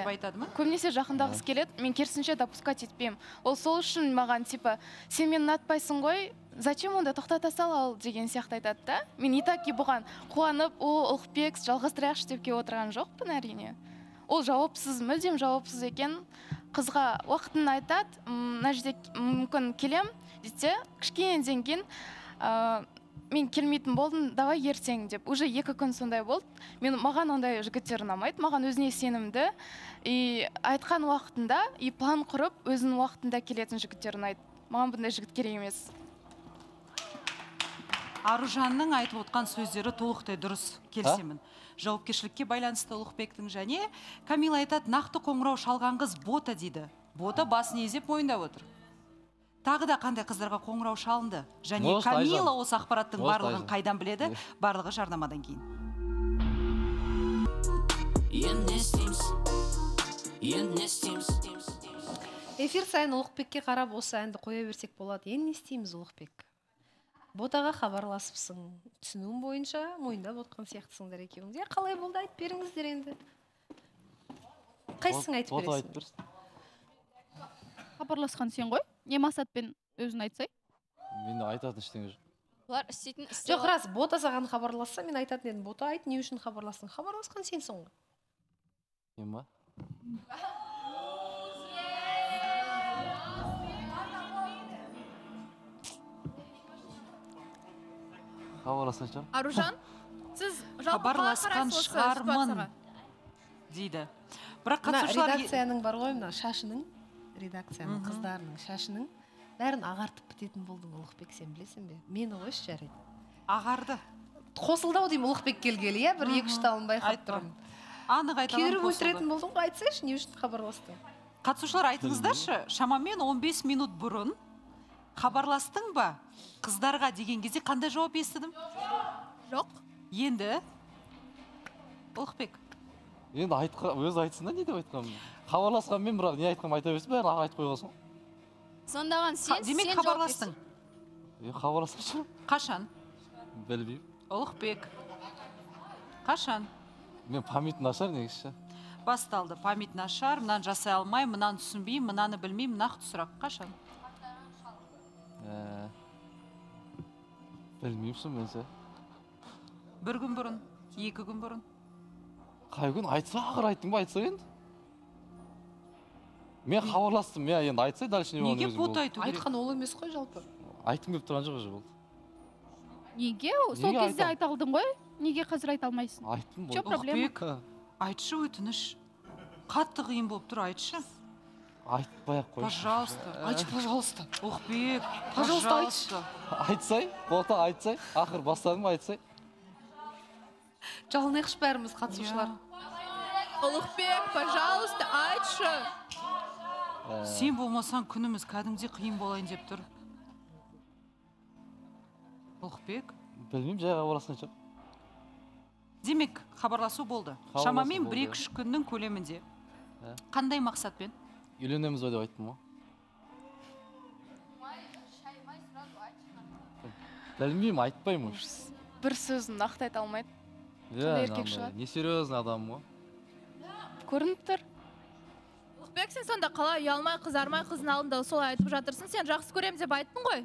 Көбінесе жақындағысы келеді, мен керісінше допускать етпеймін. Ол сол үшін маған типа, сен мені ұнатпайсың ғой, зачем онда тоқтата сал ал деген сияқты айтады да. Мен итаки бұған қуанып, о, Ұлықбек жалғастырайықшы деп келіп отырған жоқпын әрине. Ол жауапсыз, мүлдем жауапсыз екен. Қызға уақытын айтады, мына жерде мүмкін келем, десе, кішкенеден кейін мен келмейтін болдым, давай ертең деп. Уже 2 күн сондай болды. Маған ондай жігіттер ұнамайды, маған өзіне сенімді. И айтқан уақытында, и план құрып, өзінің уақытында келетін жігіттер ұнайды. Маған бұндай жігіт керек емес. Аружанның айтып отқан сөздері толықтай дұрыс, келісемін. Жауапкершілікке байланысты Ұлықбектің және Камила айтады, нақты қоңырау шалған қыз бота дейді. Бота басын изеп мойындап отыр. Тағы да қандай қыздарға қоңырау шалынды? Және Камила осы ақпараттың барлығын қайдан біледі? Барлығы жарнамадан кейін. Эфир сайын Ұлықбекке қарап осы әнді қоя берсек болады. Енді не істейміз, Ұлықбек? Ботаға хабарласыпсың, түсінуім бойынша мойындап отқан сияқтысыңдар екеуіңіз. Қалай болды, айтып беріңіздер енді. Қайсың айтып бересің? Хабарласқан сен ғой? Не мақсатпен өзің айтсай? Мен айтатын ештеңе жоқ. Олар істейтін Жоқ, рас, бота саған хабарласса, мен айтатын едім. Бота айт, не үшін хабарластың? Хабарласқан сенсің ғой. Мен ба? Хабарласқан шығар. Аружан, сіз хабарласқан шығармын дейді. Бірақ қатысушылар редакцияның бар ғой, мына шашының, редакцияның қыздарының шашының бәрін ағартып бітетін болдың, Ұлықбек, сен білесің бе? Мені қойшы жарайды. Ағарды. Қосылдау деймін Ұлықбек келгелі, иә, бір 2-3 талын байқап тұрмын. Анық айтамын, кейбір өлтіретін болдың ғой, айтсайшы, не үшін хабарластың? Қатысушылар айтыңыздаршы, шамамен 15 минут бұрын хабарластың ба? Қыздарға деген кезде қандай жауап естідім? Жоқ. Енді Ұлықбек. Енді өзі айтсын да, не деп айтқанмын? Хабарласқан мен, бірақ не айтқанмын айта берсін, бәрін айтып қойғансың. Сондаған сен демек хабарластың? Хабарласқан шығар. Қашан? Білмеймін. Ұлықбек. Қашан? Мен память нашар негізі. Басталды, память нашар, мынаны жасай алмай, мынаны түсінбеймін, мынаны білмеймін, нақты сұрақ. Қашан? Білмеймсің менсе. 1 күн бұрын, 2 күн бұрын. Қай күн айтса, ақыр айттың ба, айтса енді? Мен хабарластым, мен енді айтсай, дальше не болған өзің болды. Неге бот айту керек? Айтқан ол емес қой жалпы. Айтқым келіп тұрған жоқ уже болды. Неге? Сол кезде айта алдың ғой? Неге қазір айта алмайсың? Айттым болды. Ұлықбек, айтшы өтініш. Қатты қиын болып тұр, айтшы. Айтпай-ақ қойшы. Пожалуйста. Айтшы, пожалуйста. Ұлықбек, пожалуйста, айтшы. Айтсай, бота айтсай, ақыр бастадың ба айтсай. Жалынайықшы бәріміз қатысушылар. Ұлықбек, пожалуйста, айтшы. Сен болмасаң күніміз кәдімде қиын болайын деп тұр. Ұлықбек? Білмеймін, жай хабарласқан шығар. Демек, хабарласу болды. Шамамен 1-2 күннің көлемінде. Қандай мақсатпен? Үйленеміз ғой деп айттым ғой. Білмеймін, айтпаймын. Бір сөзін нақты айта алмайды. Не серьезный адам ғой. Көрініп тұр. Ұлықбек, сен сонда қалай ұялмай, қызармай қыздың алдында солай айтып жатырсың? Сен жақсы көрем деп айттың ғой?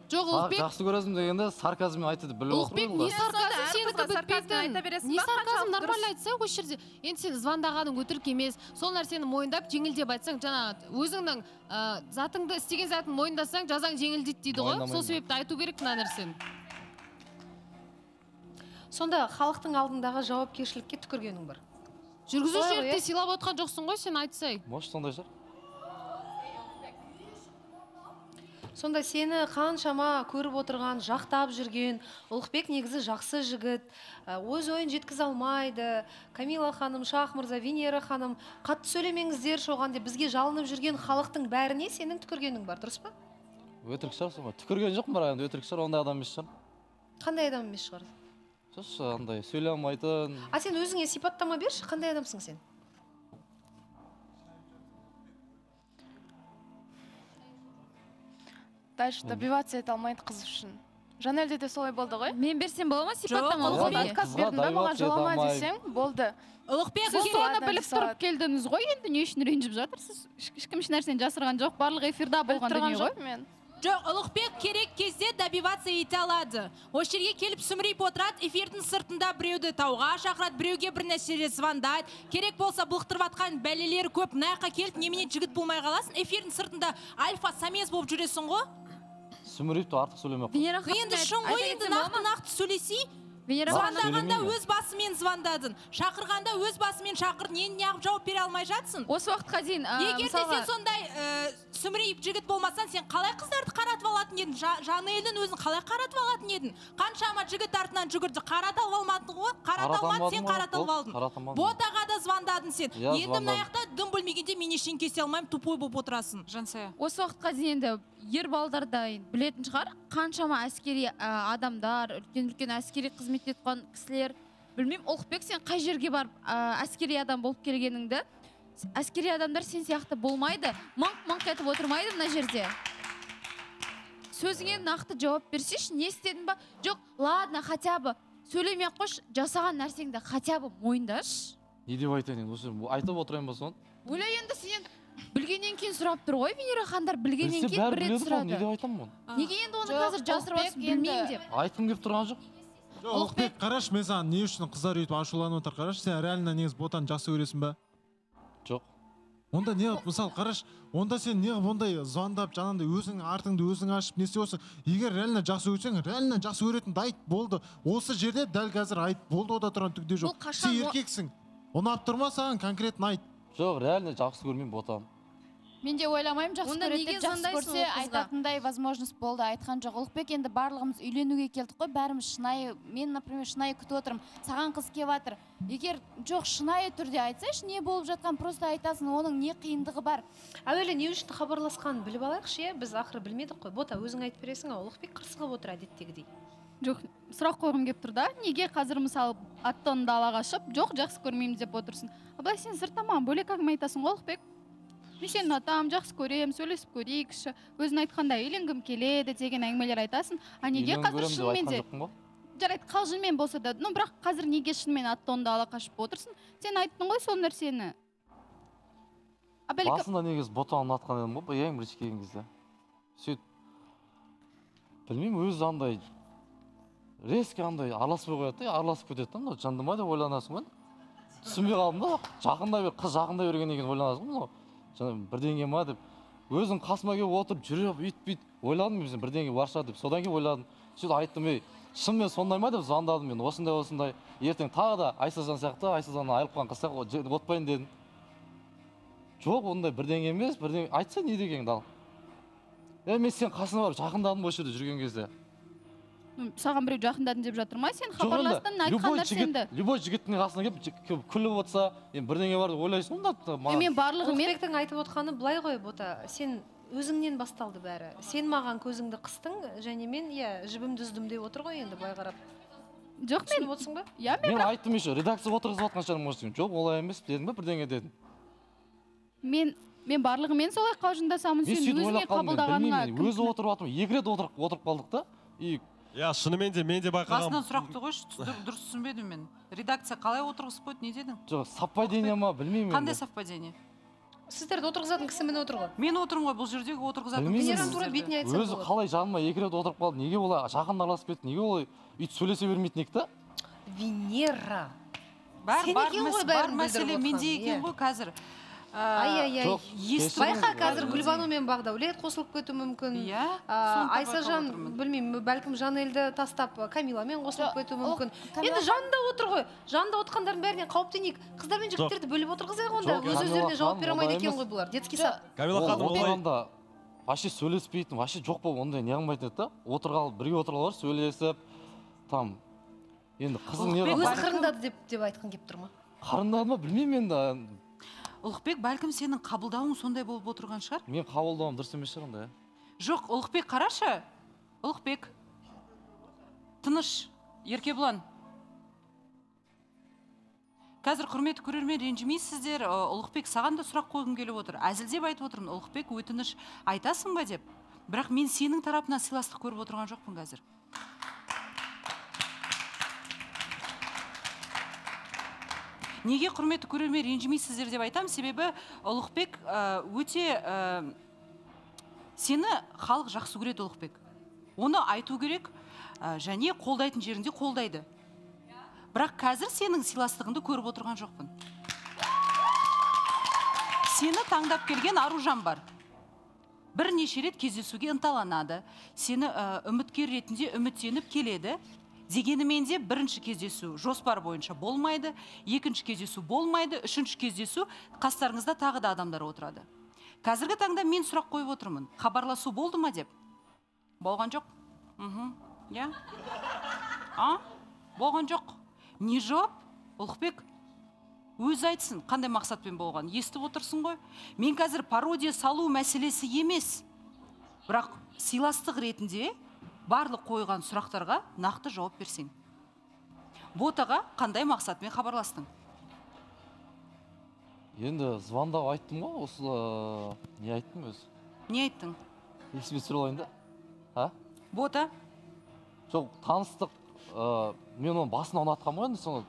Жоқ, Ұлықбек. Жақсы көресің дегенде сарказммен айтты біліп отырмын. Ұлықбек, не сарказм сенікі бітпейтін? Не сарказм нормально айтса, осы жерде. Енді сен звондағаның өтірік емес. Сол нәрсені мойындап, жеңілдеп айтсаң, жаңағы өзіңнің затыңды істеген затын мойындасаң, жазаң жеңілдейді дейді ғой. Сол себепті айту керек мына нәрсені. Сонда халықтың алдындағы жауапкершілікке түкіргенің бар. Жүргізушілерді сыйлап отқан жоқсың ғой, сен айтсай. Может, сондай шығар. Сонда сені қаншама көріп отырған, жақтап жүрген, Ұлықбек негізі жақсы жігіт, өз ойын жеткізе алмайды. Камила ханым, Шах мырза, Венера ханым, қатты сөйлемеңіздер шоған деп бізге жалынып жүрген халықтың бәріне сенің түкіргенің бар, дұрыс па? Өтірік шығар соңғы. Түкірген жоқпын бірақ енді өтірік шығар, ондай адам емес шығар. Қандай адам емес шығар? Андай сөйлей алмайтын. А сен өзіңе сипаттама берші, қандай адамсың сен? Дальше добиваться ете алмайды қыз үшін. Жанелде де солай болды ғой? Мен берсем бола ма сипаттама? Жоқ, отказ бердің ба, маған жолама десең, болды. Ұлықбек, сіз соны біліп тұрып келдіңіз ғой, енді не үшін ренжіп жатырсыз? Ешкім еш нәрсені жасырған жоқ, барлық эфирда болған дүние ғой. Жоқ, Ұлықбек керек кезде добиваться ете алады. Осы жерге келіп сүмірейіп отырады, эфирдің сыртында біреуді тауға шақырады, біреуге бір нәрселер звондайды. Керек болса бұлықтырып атқан бәлелері көп, мынаяққа келіп немене жігіт болмай қаласың, эфирдің сыртында альфа-самец болып жүресің ғой. Сүмірейіпті артық сөйлемек. Енді шын ғой, енді нақты сөйлесей. Звондағанда өз басымен звондадың, шақырғанда өз басымен шақыр, неғып жауап бере алмай жатсың. Осы уақытқа дейін, егер де сен сондай сүмірейіп жігіт болмасаң, сен қалай қыздарды қаратып алатын едің? Жанелдің өзін қалай қаратып алатын едің? Қаншама жігіт артынан жүгірді, қаратып алмадың ғой? Қаратып алмады, сен қаратып алдың. Ботаға да звондадың сен. Енді мына жақта дым бөлмегенде мен ештеңе кесе алмаймын, тупой болып отырасың. Жансая. Осы уақытқа дейін енді ер балдарда білетін шығар, қаншама әскери адамдар, үлкен әскери қызмет еткен кісілер. Білмеймін, Ұлықбек, сен қай жерге барып әскери адам болып келгеніңді? Әскери адамдар сен сияқты болмайды, маңқ-маңқ етіп отырмайды мына жерде. Сөзіңе нақты жауап берсеш, не істедің ба? Жоқ, ладно, хотя бы сөйлемей қош, жасаған нәрсеңді хотя бы мойындаш. Не деп айтайын, осы айтып отырайын ба соны? Ойлай енді сен білгеннен кейін сұрап тұр ғой, Венера хандар білгеннен кейін бір рет сұрады. Не деп айтамын оны? Неге енді оны қазір жасырып отырсың, білмеймін деп. Айтқым келіп тұрған жоқ. Ұлықбек, қараш, мен саған не үшін қыздар өйтіп ашуланып отыр, қараш, сен реально негіз ботаны жақсы көресің ба? Жоқ. Онда не қылып, мысалы, қараш, онда сен не қылып ондай звондап, жаңағындай өзің артыңды өзің ашып, не істеп отырсың? Егер реально жақсы көрсең, реально жақсы көретінді айт, болды. Осы жерде дәл қазір айт, болды, ода тұрған түкте жоқ. Сен еркексің. Ұнап тұрма саған конкретно айт. Жоқ, реально жақсы көрмеймін ботаны. Мен де ойламаймын, жақсы көреді деп, жақсы көрсе айтатындай возможность болды, айтқан жоқ. Ұлықбек, енді барлығымыз үйленуге келдік қой, бәріміз шынайы, мен, например, шынайы күтіп отырмын, саған қыз келіп жатыр. Егер жоқ, шынайы түрде айтсайшы, не болып жатқан, просто айтасың, оның не қиындығы бар. Әуелі не үшін хабарласқанын біліп алайықшы, біз ақыры білмедік қой. Бота, өзің айтып бересің, Ұлықбек қырсығып отыр әдеттегідей. Жоқ, сұрақ қойғым келіп тұр да, неге қазір мысалы аттан далаға шығып, жоқ, жақсы көрмеймін деп отырсың. Абылай, сен сырттаман бөлек әңгіме айтасың ғой, Ұлықбек. Мен сені ұнатамын, жақсы көрем, сөйлесіп көрейікші, өзің айтқанда үйленгім келеді деген әңгімелер айтасың. А неге қазір шынымен де жарайды, қалжыңмен болса да, бірақ қазір неге шынымен аттонды ала қашып отырсың? Сен айттың ғой сол нәрсені. Басында негіз ботаны ұнатқан едім ғой, ең бірінші келген кезде. Сөйт, білмеймін, өзі андай резко андай араласпай қояды, араласып кетеді, жандыма деп ойланасың ғой. Түсінбей қалдым да, қыз жақындай берген екен ойланасың ғой. Бірдеңе ма деп, өзің қасыма келіп отырып жүріп, үйтіп ойладым мен бірдеңе барша деп, содан кейін ойладым. Сөйтіп айттым, шынымен сондай ма деп звондадым мен, осындай, ертең тағы да Айсазан сияқты, Айсазаннан айырылып қалған қыз сияқты отпайын дедім. Жоқ, ондай бірдеңе емес, бірдеңе айтса не дегеніңді ал. Мен сен қасына барып жақындадым осы жерде жүрген кезде. Саған біреу жақындадың деп жатыр ма? Сен хабарластың, айтқан нәрсеңді. Любой жігіттің қасына келіп күліп отырса, бірдеңе бар деп ойлайсың да. Мен барлығымен Ұлықбектің айтып отқаны былай ғой, Бота, сен өзіңнен басталды бәрі. Сен маған көзіңді қыстың, және мен жібімді үздім деп отыр ғой енді былай қарап. Жоқ, мен түсініп отырсың ба? Мен айттым еще, редакция отырғызып отқан шығармын, может, жоқ, олай емес дедің ба, бірдеңе дедім. Мен барлығымен солай қалжыңдасамын, сен өзіңе қабылдағаныңа. Өзі отырып атым, екі рет отырып қалдық та. Шынымен де мен де байқағам. Басынан сұрақты қойшы, дұрыс түсінбедім мен. Редакция қалай отырғызып қойды, не дедің? Жоқ, совпадение ма, білмеймін. Қандай совпадение? Сіздерді отырғызатын кісі міне отыр ғой. Мен отырмын ғой, бұл жердегі отырғызатын Венераны тура бетіне айтсам өзі қалай жаныма 2 рет отырып қалды, неге олай жақын араласып кетті, неге олай үйтіп сөйлесе бермейтін еді? Венера. Бар мәселе менде екен ғой қазір. Ай-ай-ай. Байқа қазір Гүлбану мен Бағдаулет қосылып кету мүмкін. Айсажан, білмеймін, бәлкім Жанелді тастап Камиламен қосылып кету мүмкін. Енді жанында отыр ғой. Жанында отқандардың бәрінен қауіптенейік. Қыздар мен жігіттерді бөліп отырғызайық онда. Өз-өздеріне жауап бере алмайды екен ғой бұлар. Детский сад. Камила ханым, отырғанда вообще сөйлеспейтін, вообще жоқ болып ондай не қылмайтын еді. Отырғалы бірге отырғалар сөйлесіп, там енді қызың не өз қырындады деп айтқың келіп тұр ма? Қарындады ма білмеймін енді. Ұлықбек, бәлкім сенің қабылдауың сондай болып отырған шығар? Мен қабылдауым дұрыс емес шығар онда. Жоқ, Ұлықбек, қарашы. Ұлықбек. Тыныш, Еркебұлан. Қазір құрметті көрермен, ренжімейсіздер. Ұлықбек, саған да сұрақ қойғым келіп отыр. Әзілдеп айтып отырмын. Ұлықбек, өтініш айтасың ба деп. Бірақ мен сенің тарапынан сыйластық көріп отырған жоқпын қазір. Неге құрметті көрермен ренжімейсіздер деп айтам, себебі Ұлықбек өте сені халық жақсы көреді. Ұлықбек, оны айту керек, және қолдайтын жерінде қолдайды. Бірақ қазір сенің сыйластығыңды көріп отырған жоқпын. Сені таңдап келген Аружан бар. Бірнеше рет кездесуге ынталанады. Сені үміткер ретінде үміттеніп келеді. Дегенімен де бірінші кездесу жоспар бойынша болмайды, екінші кездесу болмайды, үшінші кездесу қастарыңызда тағы да адамдар отырады. Қазіргі таңда мен сұрақ қойып отырмын. Хабарласу болды ма деп? Болған жоқ? Я? Болған жоқ. Не жауап? Ұлықбек, өз айтсын, қандай мақсатпен болған? Естіп отырсың ғой? Мен қазір пародия салу мәселесі емес. Бірақ сыйластық ретінде барлық қойған сұрақтарға нақты жауап берсең. Ботаға қандай мақсатмен хабарластың? Енді звондап айттым ғой, осы не айттым өзі? Не айттың? Есіме түсіре алайын да. Бота? Жоқ, таныстық, мен оның басына ұнатқан ғой,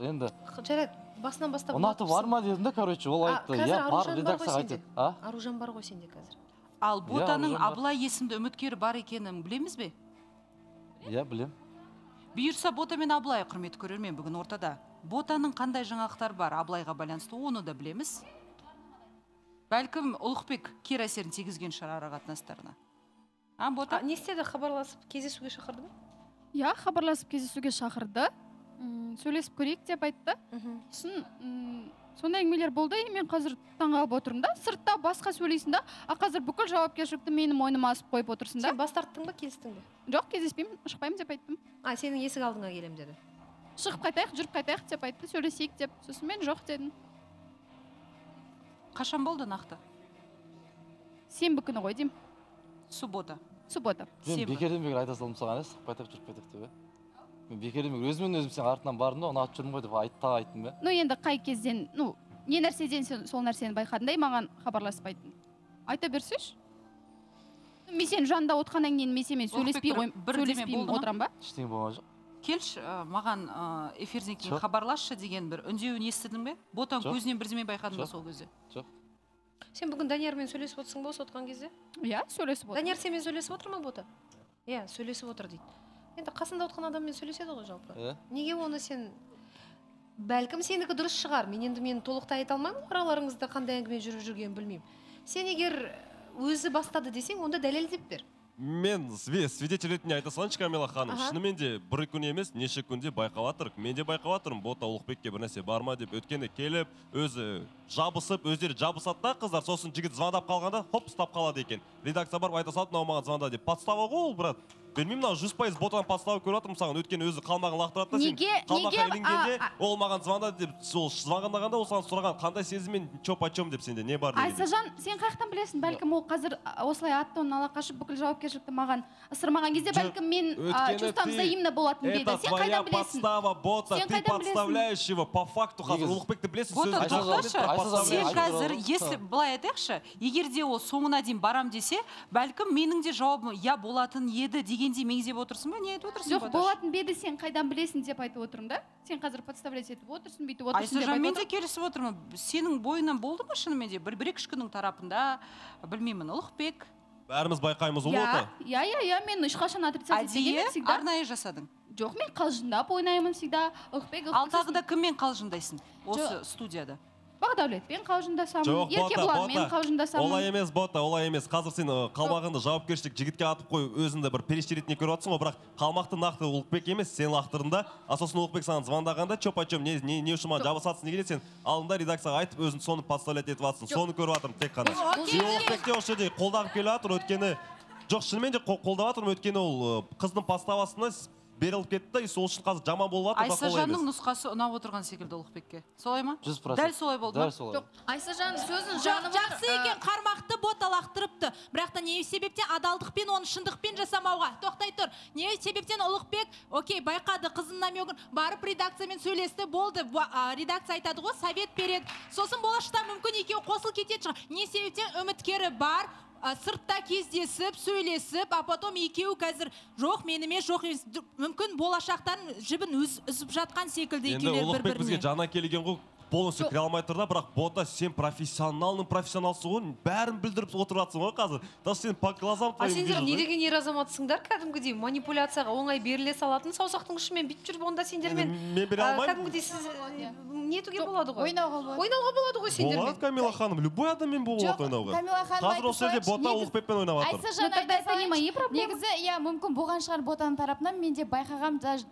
енді. Жарайды, басынан бастап. Ұнаты бар ма дедім да, короче, ол айтты. Қазір Аружан бар ғой сенде. Аружан бар ғой сенде қазір. Ал Ботаның Абылай есімді үміткері бар екенін білеміз бе? Иә, білем. Бұйырса Бота мен Абылай құрметті көрермен бүгін ортада. Ботаның қандай жаңалықтар бар Абылайға байланысты, оны да білеміз. Бәлкім Ұлықбек кері әсерін тигізген шығар ара қатынастарына. Бота? Не істеді, хабарласып кездесуге шақырды ма? Иә, хабарласып кездесуге шақырды. Сөйлесіп көрейік деп айтты. Сондай әңгімелер болды, мен қазір таңғалып отырмын да. Сыртта басқа сөйлейсің да, қазір бүкіл жауапкершілікті менің мойныма асып қойып отырсың да. Сен бас тарттың ба, келістің бе? Жоқ, кездеспеймін, шықпаймын деп айттым. Сенің есік алдыңа келем деді. Шығып қайтайық, жүріп қайтайық деп айтты, сөйлесейік деп. Сосын мен жоқ дедім. Қашан болды нақты? Сенбі күні ғой деймін. Суббота. Мен бекерден бекер айта салдым саған, шығып қайтайық, жүріп қайтайық деп. Мен бекерден бекер өзімен өзім сен артынан бардым да, ұнатып жүрмін ғой деп айттым бе? Енді қай кезден, не нәрседен сол нәрсені байқадыңдай маған хабарласып айттың. Айта берсеш? Мен сен жанында отқаннан кейін мен сенімен сөйлеспей отырам ба? Ештеңе болған жоқ. Келші, маған эфирден кейін хабарласшы деген бір үндеуін естідің бе? Ботаң көзінен бірдеме байқадың ба сол кезде? Жоқ. Сен бүгін Даниярмен сөйлесіп отырсың ба осы отқан кезде? Иә, сөйлесіп отыр. Данияр сенімен сөйлесіп отыр ма, Бота? Иә, сөйлесіп отыр дейді. Енді қасында отқан адаммен сөйлеседі ғой жалпы. Неге оны сен, бәлкім сенікі дұрыс шығар, мен толықтай айта алмаймын, араларыңызда қандай әңгіме жүріп жүргенін білмеймін. Сен егер өзі бастады десең, онда дәлелдеп бер. Мен свидетель ретінде айта салайыншы, Камила ханым. Шынымен де бір күн емес, неше күнде байқалатыр. Мен де байқалатырмын, Бота Ұлықбекке бір нәрсе бар ма деп. Өткені келіп, өзі жабысып, өздері жабысады да қыздар, сосын жігіт звондап қалғанда, хоп, ұстап қалады екен. Редакция барып айта салды, мынау маған звонда деп. Подстава ғой ол, брат. Білмеймін, 100% Ботаның подставы көріп отырмын саған. Өткені өзі қалмағын лақтырады да, сен қалмаққа ілінгенде, ол маған звонда деп, сол звондағанда ол саған сұраған, қандай сезіммен чоп-почом деп сенде, не бар деген. Айсажан, сен қаяқтан білесің, бәлкім ол қазір осылай аттон ала қашып бүкіл жауапкершілікті маған ысырмаған кезде бәлкім мен чувствам взаимно болатын беді. Сен қайдан білесің? Это твоя подстава, Бота, ты подставляешь его по факту. Қазір Ұлықбекті білесің, сен қазір, если былай айтайықшы, егер де ол соңына дейін барам десе, бәлкім менің де жауабым я болатын еді дегендей меңзеп отырсың ба, не айтып отырсың? Жоқ, болатын беді сен қайдан білесің деп айтып отырмын да. Сен қазір подставлять етіп отырсың, бүйтіп отырсың деп айтып Айсажан, мен де келісіп отырмын. Сенің бойынан болды ма шынымен де? Бір-екі күннің тарапында, білмеймін, Ұлықбек. Бәріміз байқаймыз ол оты. Иә, мен ешқашан отрицать етпегенмін всегда. Арнайы жасадың? Жоқ, мен қалжыңдап ойнаймын всегда. Ал тағы да кіммен қалжыңдайсың осы студияда? Бақдәулетпен қалжыңдасамын. Жоқ, Еркебұланмен қалжыңдасамын. Олай емес, бота, олай емес. Қазір сен қалмағында жауапкершілік жігітке атып қой, өзіңді бір перештеретіне көріп отырсың ғой, бірақ қалмақты нақты Ұлықбек емес, сен лақтырында. Сосын Ұлықбек саған звондағанда, чоп-чоп, не үшін маған жабысатсың дегенде сен алдында редакцияға айтып, өзің соны подставлять етіп жатсың. Соны көріп жатырмын тек қана. Ұлықбекте осы жерде қолдағып келіп жатыр, өйткені жоқ, шынымен де қолдап жатырмын, өйткені ол қыздың подставасына беріліп кетті, сол үшін қазір жаман болып жатыр. Айсажанның нұсқасы ұнап отырған секілді Ұлықбекке. Солай ма? 100%. Дәл солай болды ма? Жоқ, Айсажан сөзін жаны жақсы екен, қармақты бота лақтырыпты. Бірақ та не себептен адалдықпен, оны шындықпен жасамауға. Тоқтай тұр. Не себептен Ұлықбек, окей, байқады, қызының намегін барып редакциямен сөйлесті, болды. Редакция айтады ғой, совет береді. Сосын болашақта мүмкін екеуі қосыл кетеді шығар. Не себептен үміткері бар, сыртта кездесіп, сөйлесіп, а потом екеуі қазір жоқ, мен емес, жоқ емес. Мүмкін болашақтан жібін үзіп жатқан секілді екеулер бір-біріне. Енді Ұлықбек бізге жана келген ғой, полностью кіре алмай тұр да, бірақ бота сен профессионалсың ғой, бәрін білдіріп отыратсың ғой қазір. Даже сен по глазам твоим вижу. Сендер не деген ер азаматсыңдар, кәдімгідей манипуляцияға оңай беріле салатын саусақтың ұшымен бүйтіп жүріп, онда сендермен мен бере алмаймын. Кәдімгідей сіз нетуге болады ғой? Ойнауға болады ғой сендермен. Болады, Камила ханым, любой адаммен болады ойнауға. Қазір осы жерде бота Ұлықбекпен ойнап жатыр. Айсажан, негізі, мүмкін болған шығар ботаның тарапынан, мен де байқағам, даже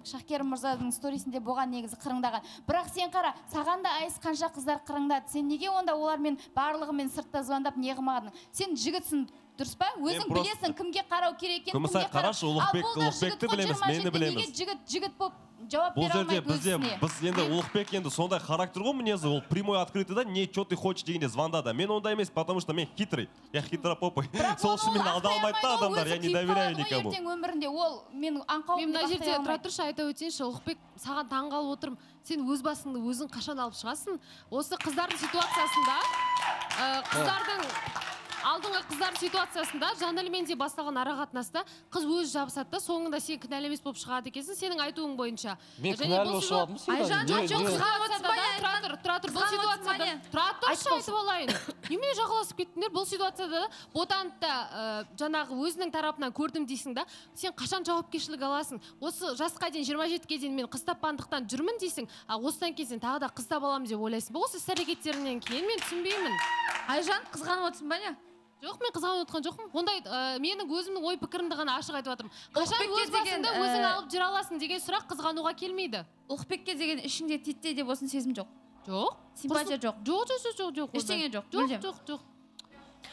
Шахкер мырзаның сторисінде болған негізі қырыңдаған. Бірақ сен қара, саған да айыз қанша қыздар қырыңдады. Сен неге онда олармен барлығымен сыртта звондап не қылмадың? Сен жігітсің, дұрыс па? Өзің білесің кімге қарау керек екенін, кімге қарау. Қарашы, Ұлықбекті білеміз, мені білеміз. Жігіт болып жауап бере алмайды өзіне. Біз енді Ұлықбек енді сондай характер ғой мінезі, ол прямой открытый да, не что ты хочешь дегенде звондады. Мен ондай емес, потому что мен хитрый. Я хитропопый. Сол үшін мен алда алмайды да адамдар, я не доверяю никому. Ертең өмірінде ол мен аңқау. Мен мына жерде тұра тұршы айта өтейінші, Ұлықбек, саған таңғалып отырмын. Сен өз басыңды өзің қашан алып шығасың? Осы қыздардың ситуациясында, алдыңғы қыздар ситуациясында Жанелмен де басталған арақатынаста қыз өзі жабысады да, соңында сен кінәлі емес болып шығады екенсің, сенің айтуың бойынша. Мен кінәлі болып шығадым сен. Айжан, бұл ситуацияда айтып олайын. Немене жағаласып кеттіңдер? Бұл ситуацияда ботанды жаңағы өзінің тарапынан көрдім дейсің да, сен қашан жауапкершілік аласың? Осы жасқа дейін 27-ге дейін мен қыз тапқандықтан жүрмін дейсің, а осыдан кейін сен тағы да қыз таба аламын деп ойлайсың. Осы іс-әрекеттерінен кейін мен түсінбеймін. Айжан, қызғанып отырсың ба не? Жоқ, мен қызғанып отқан жоқпын. Ондай менің өзімнің ой пікірімді ғана ашық айтып жатырмын. Қашан өз басыңды өзің алып жүре аласың деген сұрақ қызғануға келмейді. Ұлықбекке деген ішіңде титтей деп осын сезім жоқ. Жоқ. Симпатия жоқ. Жоқ. Ештеңе жоқ. Жоқ.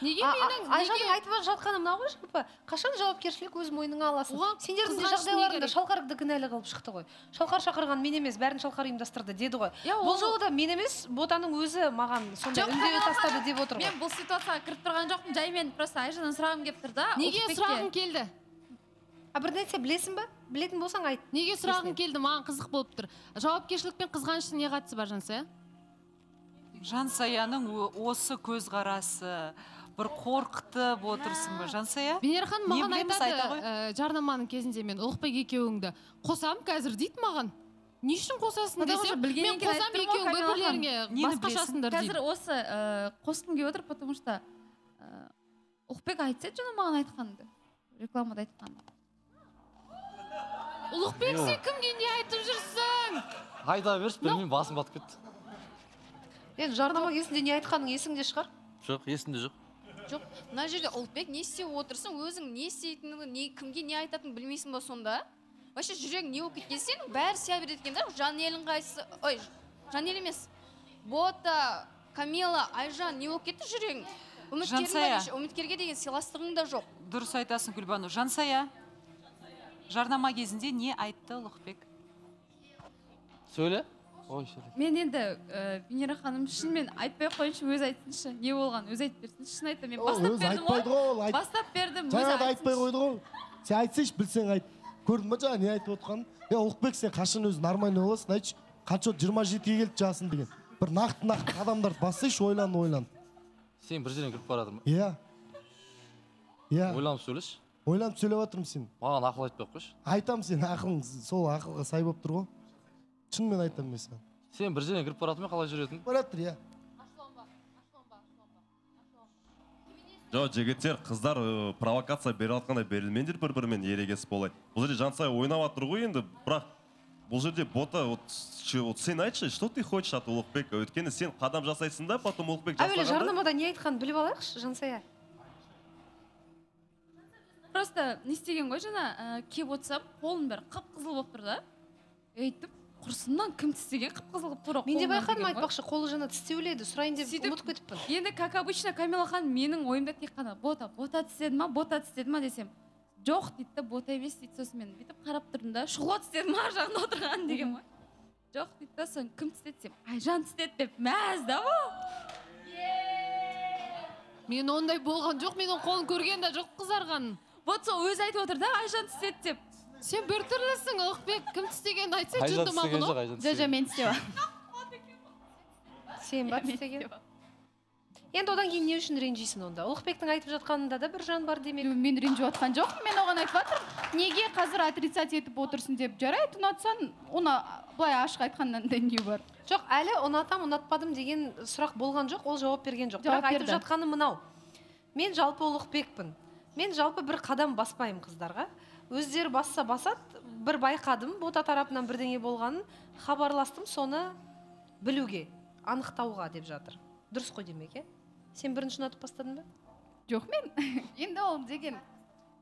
Неге менің Айжанның айтып жатқаны мынау ғой, жалпы қашан жауапкершілік өз мойныңа аласың? Сендердің де жағдайларында Шалқарды кінәлі қылып шықты ғой. Шалқар шақырған мен емес, бәрін Шалқар ұйымдастырды деді ғой. Бұл жолы да мен емес, ботаның өзі маған сондай үндеу тастады деп отыр ғой. Мен бұл ситуацияға кіріп тұрған жоқпын, жаймен просто Айжаннан сұрағым келіп тұр да. Неге сұрағың келді? Бір нәрсе білесің ба? Білетін болсаң айт. Неге сұрағың келді? Маған қызық болып тұр. Жауапкершілік пен қызғаныштың не қатысы бар, Жансая? Жансаяның осы көзқарасы бір қорқытып отырсың ба, Жансая? Венера ханым маған айтады, жарнаманың кезінде мен Ұлықбек екеуіңді қосам қазір дейді маған. Не үшін қосасың десем, мен қосам екеуің бір-бірлеріңе басқашасыңдар дейді. Қазір осы қосқым келіп отыр, потому что Ұлықбек айтса жаңа маған айтқанды, рекламада айтқанды. Ұлықбек, сен кімге не айтып жүрсің? Айта берші, білмеймін, басым батып кетті. Енді жарнама кезінде не айтқаның есіңде шығар? Жоқ, есімде жоқ. Жоқ, мына жерде Ұлықбек не істеп отырсың, өзің не істейтініңді, кімге не айтатынын білмейсің ба сонда? Вообще жүрегің не болып кеткен, сен бәрі сия береді екен да, Жанелің қайсы, ой, Жанел емес. Бота, Камила, Айжан не болып кетті жүрегің? Үміткерге деген сыйластығың да жоқ. Дұрыс айтасың, Гүлбану. Жансая, жарнама кезінде не айтты Ұлықбек? Сөйле. Мен енді Венера ханым шынымен айтпай қойыншы, өз айтсыншы, не болған, өз айтып берсін. Шын айтты, мен бастап бердім, жаңа да айтпай қойды ғой. Сен айтсайшы, білсең айт. Көрдің ба жаңа не айтып отқанын? Ұлықбек, сен қашан өзі нормальный боласың, айтшы. Қанша 27-ге келді жасын деген. Бір нақты адамдарды бассайшы, ойлан. Сен бір жерден кіріп барадың ба? Иә. Ойланып сөйлеш. ойланып сөйлеп жатырмын сен. Маған ақыл айтпай ақ қойшы. Айтамын, сен ақылың сол ақылға сай болып тұр ғой. Шынымен айтамын мен саған. Сен бір жерге кіріп баратың ба, қалай жүретін? Баратыр, иә. Жоқ, жігіттер, қыздар провокация бере жатқанда берілмеңдер бір-бірімен ерегесіп болай. Бұл жерде Жансая ойнап жатыр ғой енді, бірақ бұл жерде бота, сен айтшы, что ты хочешь от Ұлықбек? Өйткені сен қадам жасайсың да, потом Ұлықбек жасағанда... Әуелі жарнамада не айтқанын біліп алайықшы, Жансая. Просто не істеген ғой жаңа, кеп отырсам, қолым бәрі қып-қызыл болып тұр да. Өйтіп, құрсымнан кім тістеген қып-қызыл болып тұр. Мен де байқадым, айтпақшы, қолы жаңа тістеуледі, сұрайын деп ұмытып кетіппін. Енді, как обычно, Камила ханым менің ойымда тек қана бота тістеді ма десем, жоқ дейді, бота емес дейді. Сосын мен бүйтіп қарап тұрдым да, шұғылат тістеді ма жағында отырған деген ма? Жоқ дейді да, соны кім тістеді десем, Айжан тістеді деп мәз да бұл. Мен ондай болған жоқ, мен қолын көрген де жоқ қызарғанын. Вот сол өзі айтып отыр да, Айжан тістеді деп. Сен бір түрлісің, Ұлықбек, кім тістегенді айтса жынды ма бұны? Жо, мен тістева. Сен ба тістеген? Енді одан кейін не үшін ренжисің онда? Ұлықбектің айтып жатқанында да бір жан бар демек. Мен ренжіп жатқан жоқпын, мен оған айтып жатырмын. Неге қазір отрицать етіп отырсың деп, жарайды, ұнатсаң, оны былай ашық айтқаннан да не бар? Жоқ, әлі ұнатам, ұнатпадым деген сұрақ болған жоқ, ол жауап берген жоқ. Бірақ айтып жатқаны мынау. Мен жалпы Ұлықбекпін. Мен жалпы бір қадам баспаймын қыздарға. Өздері басса басады, бір байқадым, бота тарапынан бірдеңе болғанын, хабарластым, соны білуге, анықтауға деп жатыр. Дұрыс қой демек, е? Сен бірінші ұнатып бастадың ба? Жоқ, мен енді ол деген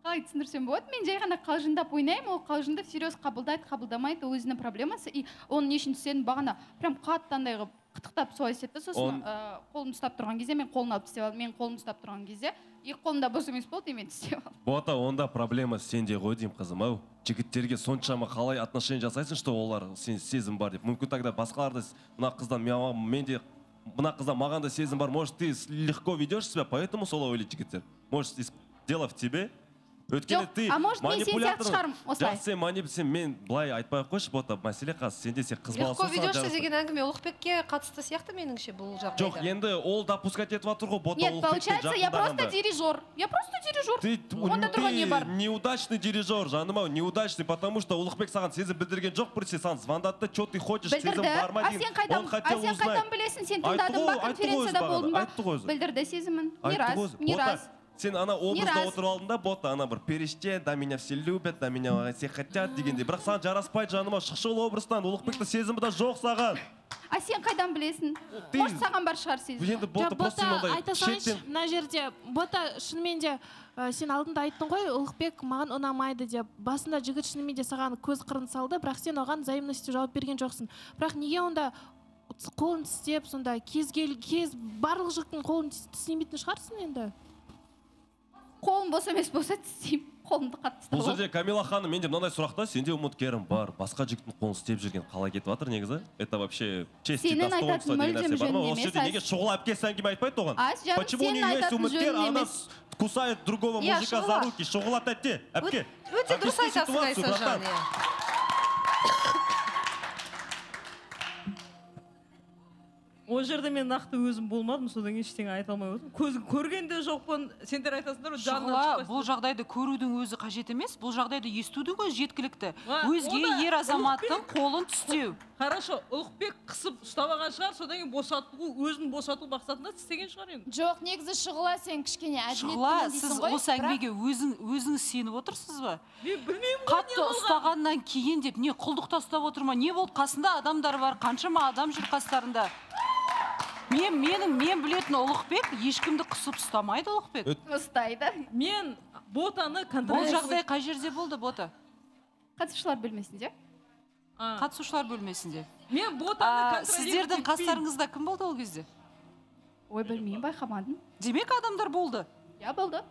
қалай түсіндірсем болады, мен жай ғана қалжыңдап ойнаймын, ол қалжыңды серьез қабылдайды, қабылдамайды, өзінің проблемасы, и оның не үшін сен бағана прям қаттандай қылып қытықтап солай істеді, сосын қолымды ұстап тұрған кезде мен қолын алып тістеп алдым, мен қолымды ұстап тұрған кезде екі қолымда бос емес болды, мен тістеп алдым. Бота, онда проблема сенде ғой деймін, қызым, ау. Жігіттерге соншама қалай отношение жасайсың, что олар сен сезім бар деп. Мүмкін тогда басқаларды мына қыздан маған да сезім бар, может, ты легко ведешь себя, поэтому солай ойлайды жігіттер. Может, дело в тебе? Өткені ты манипулятор, сен мен былай айтпай қойшы, Бота, мәселе қаз, сенде сен қыз баласы легко ведешься деген әңгіме Ұлықбекке қатысты сияқты меніңше бұл жағдайда. Жоқ, енді ол допускать етіп жатыр ғой, Бота. Нет, получается, я просто дирижер. Онда тұрған не бар? Ты неудачный дирижер, жаным ау, неудачный, потому что Ұлықбек саған сезім білдірген жоқ, біресе саған звондады, что ты хочешь, сезім бар ма дейін. Он хотел узнать. А сен қайдан білесің, сен тыңдадың ба, конференцияда болдың ба? Білдірді сезімін. Не раз. Сен ана образда отырып алдың да, Бота, ана бір періште, да меня все любят, да меня все хотят дегенде. Бірақ саған жараспайды, жаныма, шықшы ол образдан, Ұлықбекті сезімі да жоқ саған. А сен қайдан білесің? Может, саған бар шығар сезім. Енді Бота, просто сондай айтасаңшы, мына жерде, Бота, шынымен де сен алдында айттың ғой, Ұлықбек маған ұнамайды деп. Басында жігіт шынымен де саған көз қырын салды, бірақ сен оған взаимностью жауап берген жоқсың. Бірақ неге онда қолын тістеп, сонда кез барлық жігіттің қолын тістемейтін шығарсың енді? Қолым бос емес болса тістеймін, қолымды қатты тістеп. Бұл жерде Камила ханым, менде мынандай сұрақта, сенде үміткерім бар, басқа жігіттің қолын істеп жүрген қалай кетіп жатыр негізі? Это вообще честь и достоинство деген нәрсе бар ма? Осы жерде неге шұғыл әпкесі әңгіме айтпайды оған? Почему у нее есть үміткер, она кусает другого мужика за руки? Шұғылат әтте, әпке. Өте дұрыс айтасың, Айсажан. Ол жерде мен нақты өзім болмадым, содан ештеңе айта алмай отырмын. Көзін көргенде жоқпын, сендер айтасыңдар, жанынан шықпайсың. Бұл жағдайды көрудің өзі қажет емес, бұл жағдайды естудің өзі жеткілікті. Өзге ер азаматтың қолын тістеу. Хорошо, Ұлықбек қысып ұстап алған шығар, содан кейін босату, өзін босату мақсатында істеген шығар енді. Жоқ, негізі Шұғыла сен кішкене әділеттімін дейсің ғой. Шұғыла, сіз осы әңгімеге өзіңіз сеніп отырсыз ба? Мен білмеймін ғой. Қатты ұстағаннан кейін деп не құлдықта ұстап отыр ма? Не болды? Қасында адамдар бар, қаншама адам жүр қастарында. Мен білетін Ұлықбек ешкімді қысып ұстамайды Ұлықбек. Ұстайды. Мен Ботаны Бұл жағдай қай жерде болды, Бота? Қатысушылар бөлмесінде. Қатысушылар бөлмесінде. Мен Ботаны сіздердің қастарыңызда кім болды ол кезде? Ой, білмеймін, байқамадым. Демек адамдар болды? Я, болды.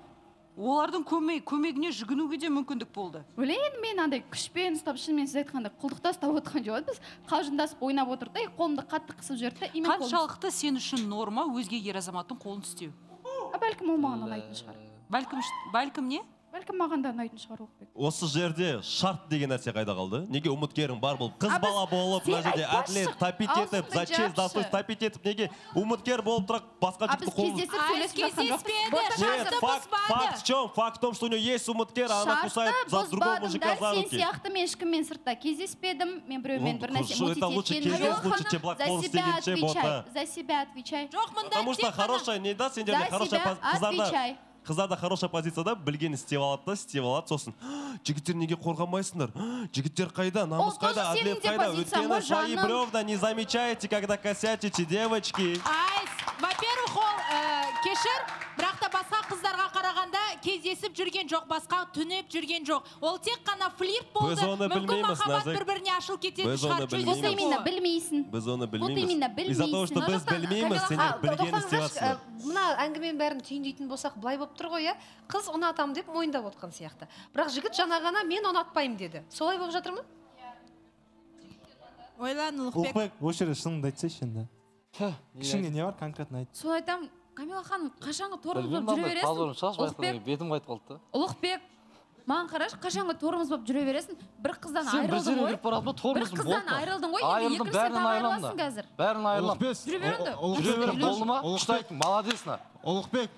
Олардың көмегіне жүгінуге де мүмкіндік болды. Ойлайын, мен андай күшпен ұстап, шынымен сіз айтқанда құлдықта ұстап отырған жоқ. Біз қалжыңдасып ойнап отырды, қолымды қатты қысып жіберді. Қаншалықты сен үшін норма өзге ер азаматтың қолын тістеу? Бәлкім ол маған ұнайтын шығар. Бәлкім не? бәлкім маған да ұнайтын шығар Ұлықбек. Осы жерде шарт деген нәрсе қайда қалды? Неге үміткерің бар болып, қыз бала болып, мына жерде әділет тапит етіп, за честь, достоинство тапит етіп, неге үміткер болып тұрақ басқа жігітті Факт в чем? Факт в том, что у нее есть үміткер, она кусает за другого мужика за руки. Сен сияқты мен ешкіммен сыртта кездеспедім, мен біреумен бір нәрсе за себя отвечай. Потому что хорошая, не да, сендерде хорошая қыздарда хорошая позицияда білгені істеп алады, сосын жігіттер неге қорғамайсыңдар? Жігіттер қайда, намыс қайда, әділет қайда? Өйткені свои бревна не замечаете, когда косячите, девочки. Во-первых, ол кешір, бірақ та басқа қыздарға қарағанда кездесіп жүрген жоқ, басқа түнеп жүрген жоқ. Ол тек қана флирт болды. Мүмкін махаббат бір-біріне ашылып кететін шығар. Вот именно білмейсің. Біз оны білмейміз. Из-за того, что біз білмейміз, сендер білгені істеватсыңдар. Мына әңгіменің бәрін түйіндейтін болсақ, былай болып тұр ғой, қыз ұнатам деп мойындап отқан сияқты. Бірақ жігіт жаңа ғана мен ұнатпаймын деді. Солай болып жатыр ма? Ойлан, Ұлықбек. Осы жерде шыныңды айтсайшы енді. Ішіңде не бар, конкретно айт. Сол айтам, Камила ханым, қашанғы торымыз болып жүре бересің? Ұлықбек, маған қараш, қашанғы торымыз болып жүре бересің? Бір қыздан айырылдың ғой? Бір қыздан айырылдың ғой? Екінші сен айырыласың қазір. Бәрін айырылам. Жүре беріңді. Жүре берім, болды ма? Құштайтын, молодесна. Ұлықбек,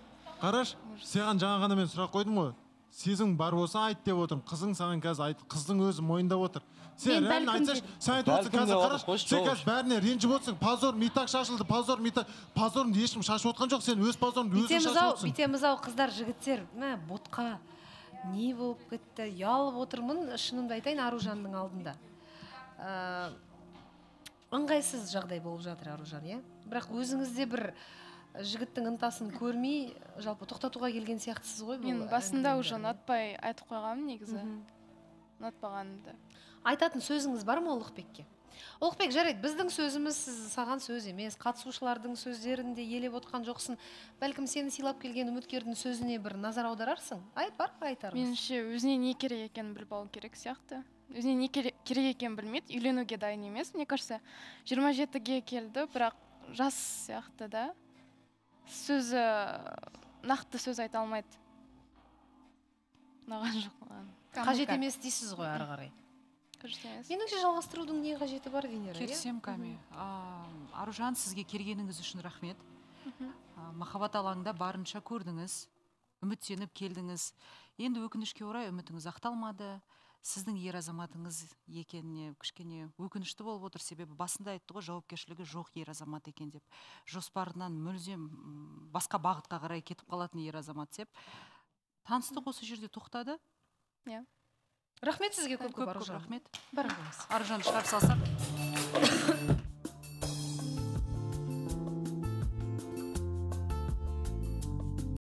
қараш, саған жаңа ғана мен сұрақ қойдым ғой. Сезің бар болса айт деп отырмын. Қызың саған қазір айт, қыздың өзі мойындап отыр. Сен реально айтсаш, сен айтып отырсың қазір қараш, сен қазір бәріне ренжіп отырсың. Позор, митак шашылды, позор, митак. Позорыңды ешкім шашып отқан жоқ, сен өз позорыңды өзің шашып отырсың. Бүйтеміз-ау қыздар, жігіттер, ботқа не болып кетті, ұялып отырмын, шынымды айтайын Аружанның алдында. Ыңғайсыз жағдай болып жатыр Аружан, иә? Бірақ өзіңізде бір жігіттің ынтасын көрмей, жалпы тоқтатуға келген сияқтысыз ғой? Мен басында уже ұнатпай айтып қойғанмын негізі. Ұнатпағанымды. Айтатын сөзіңіз бар ма Ұлықбекке? Ұлықбек, жарайды, біздің сөзіміз саған сөз емес, қатысушылардың сөздерінде елеп отқан жоқсын. Бәлкім сені сыйлап келген үміткердің сөзіне бір назар аударарсың? Бар ма айтарыңыз? Меніңше өзіне не керек екенін біліп алу керек сияқты. Өзіне не керек екенін білмейді, үйленуге дайын емес. Мне кажется, 27-ге келді, бірақ жас сияқты да. Сөзі, нақты сөз айта алмайды. Наған жоқ. Қажет емес дейсіз ғой ары қарай. Меніңше жалғастырудың не қажеті бар, Венера? Келісем, Ками. Аружан, сізге келгеніңіз үшін рахмет. Махаббат алаңында барынша көрдіңіз, үміттеніп келдіңіз. Енді өкінішке орай үмітіңіз ақталмады. Сіздің ер азаматыңыз екеніне кішкене өкінішті болып отыр, себебі басында айтты ғой, жауапкершілігі жоқ ер азамат екен деп. Жоспарынан мүлдем басқа бағытқа қарай кетіп қалатын ер азамат деп. Таныстық осы жерде тоқтады. Рахмет сізге көп Аружан. Рахмет. Барыңыз. Аружан шығарып салсақ.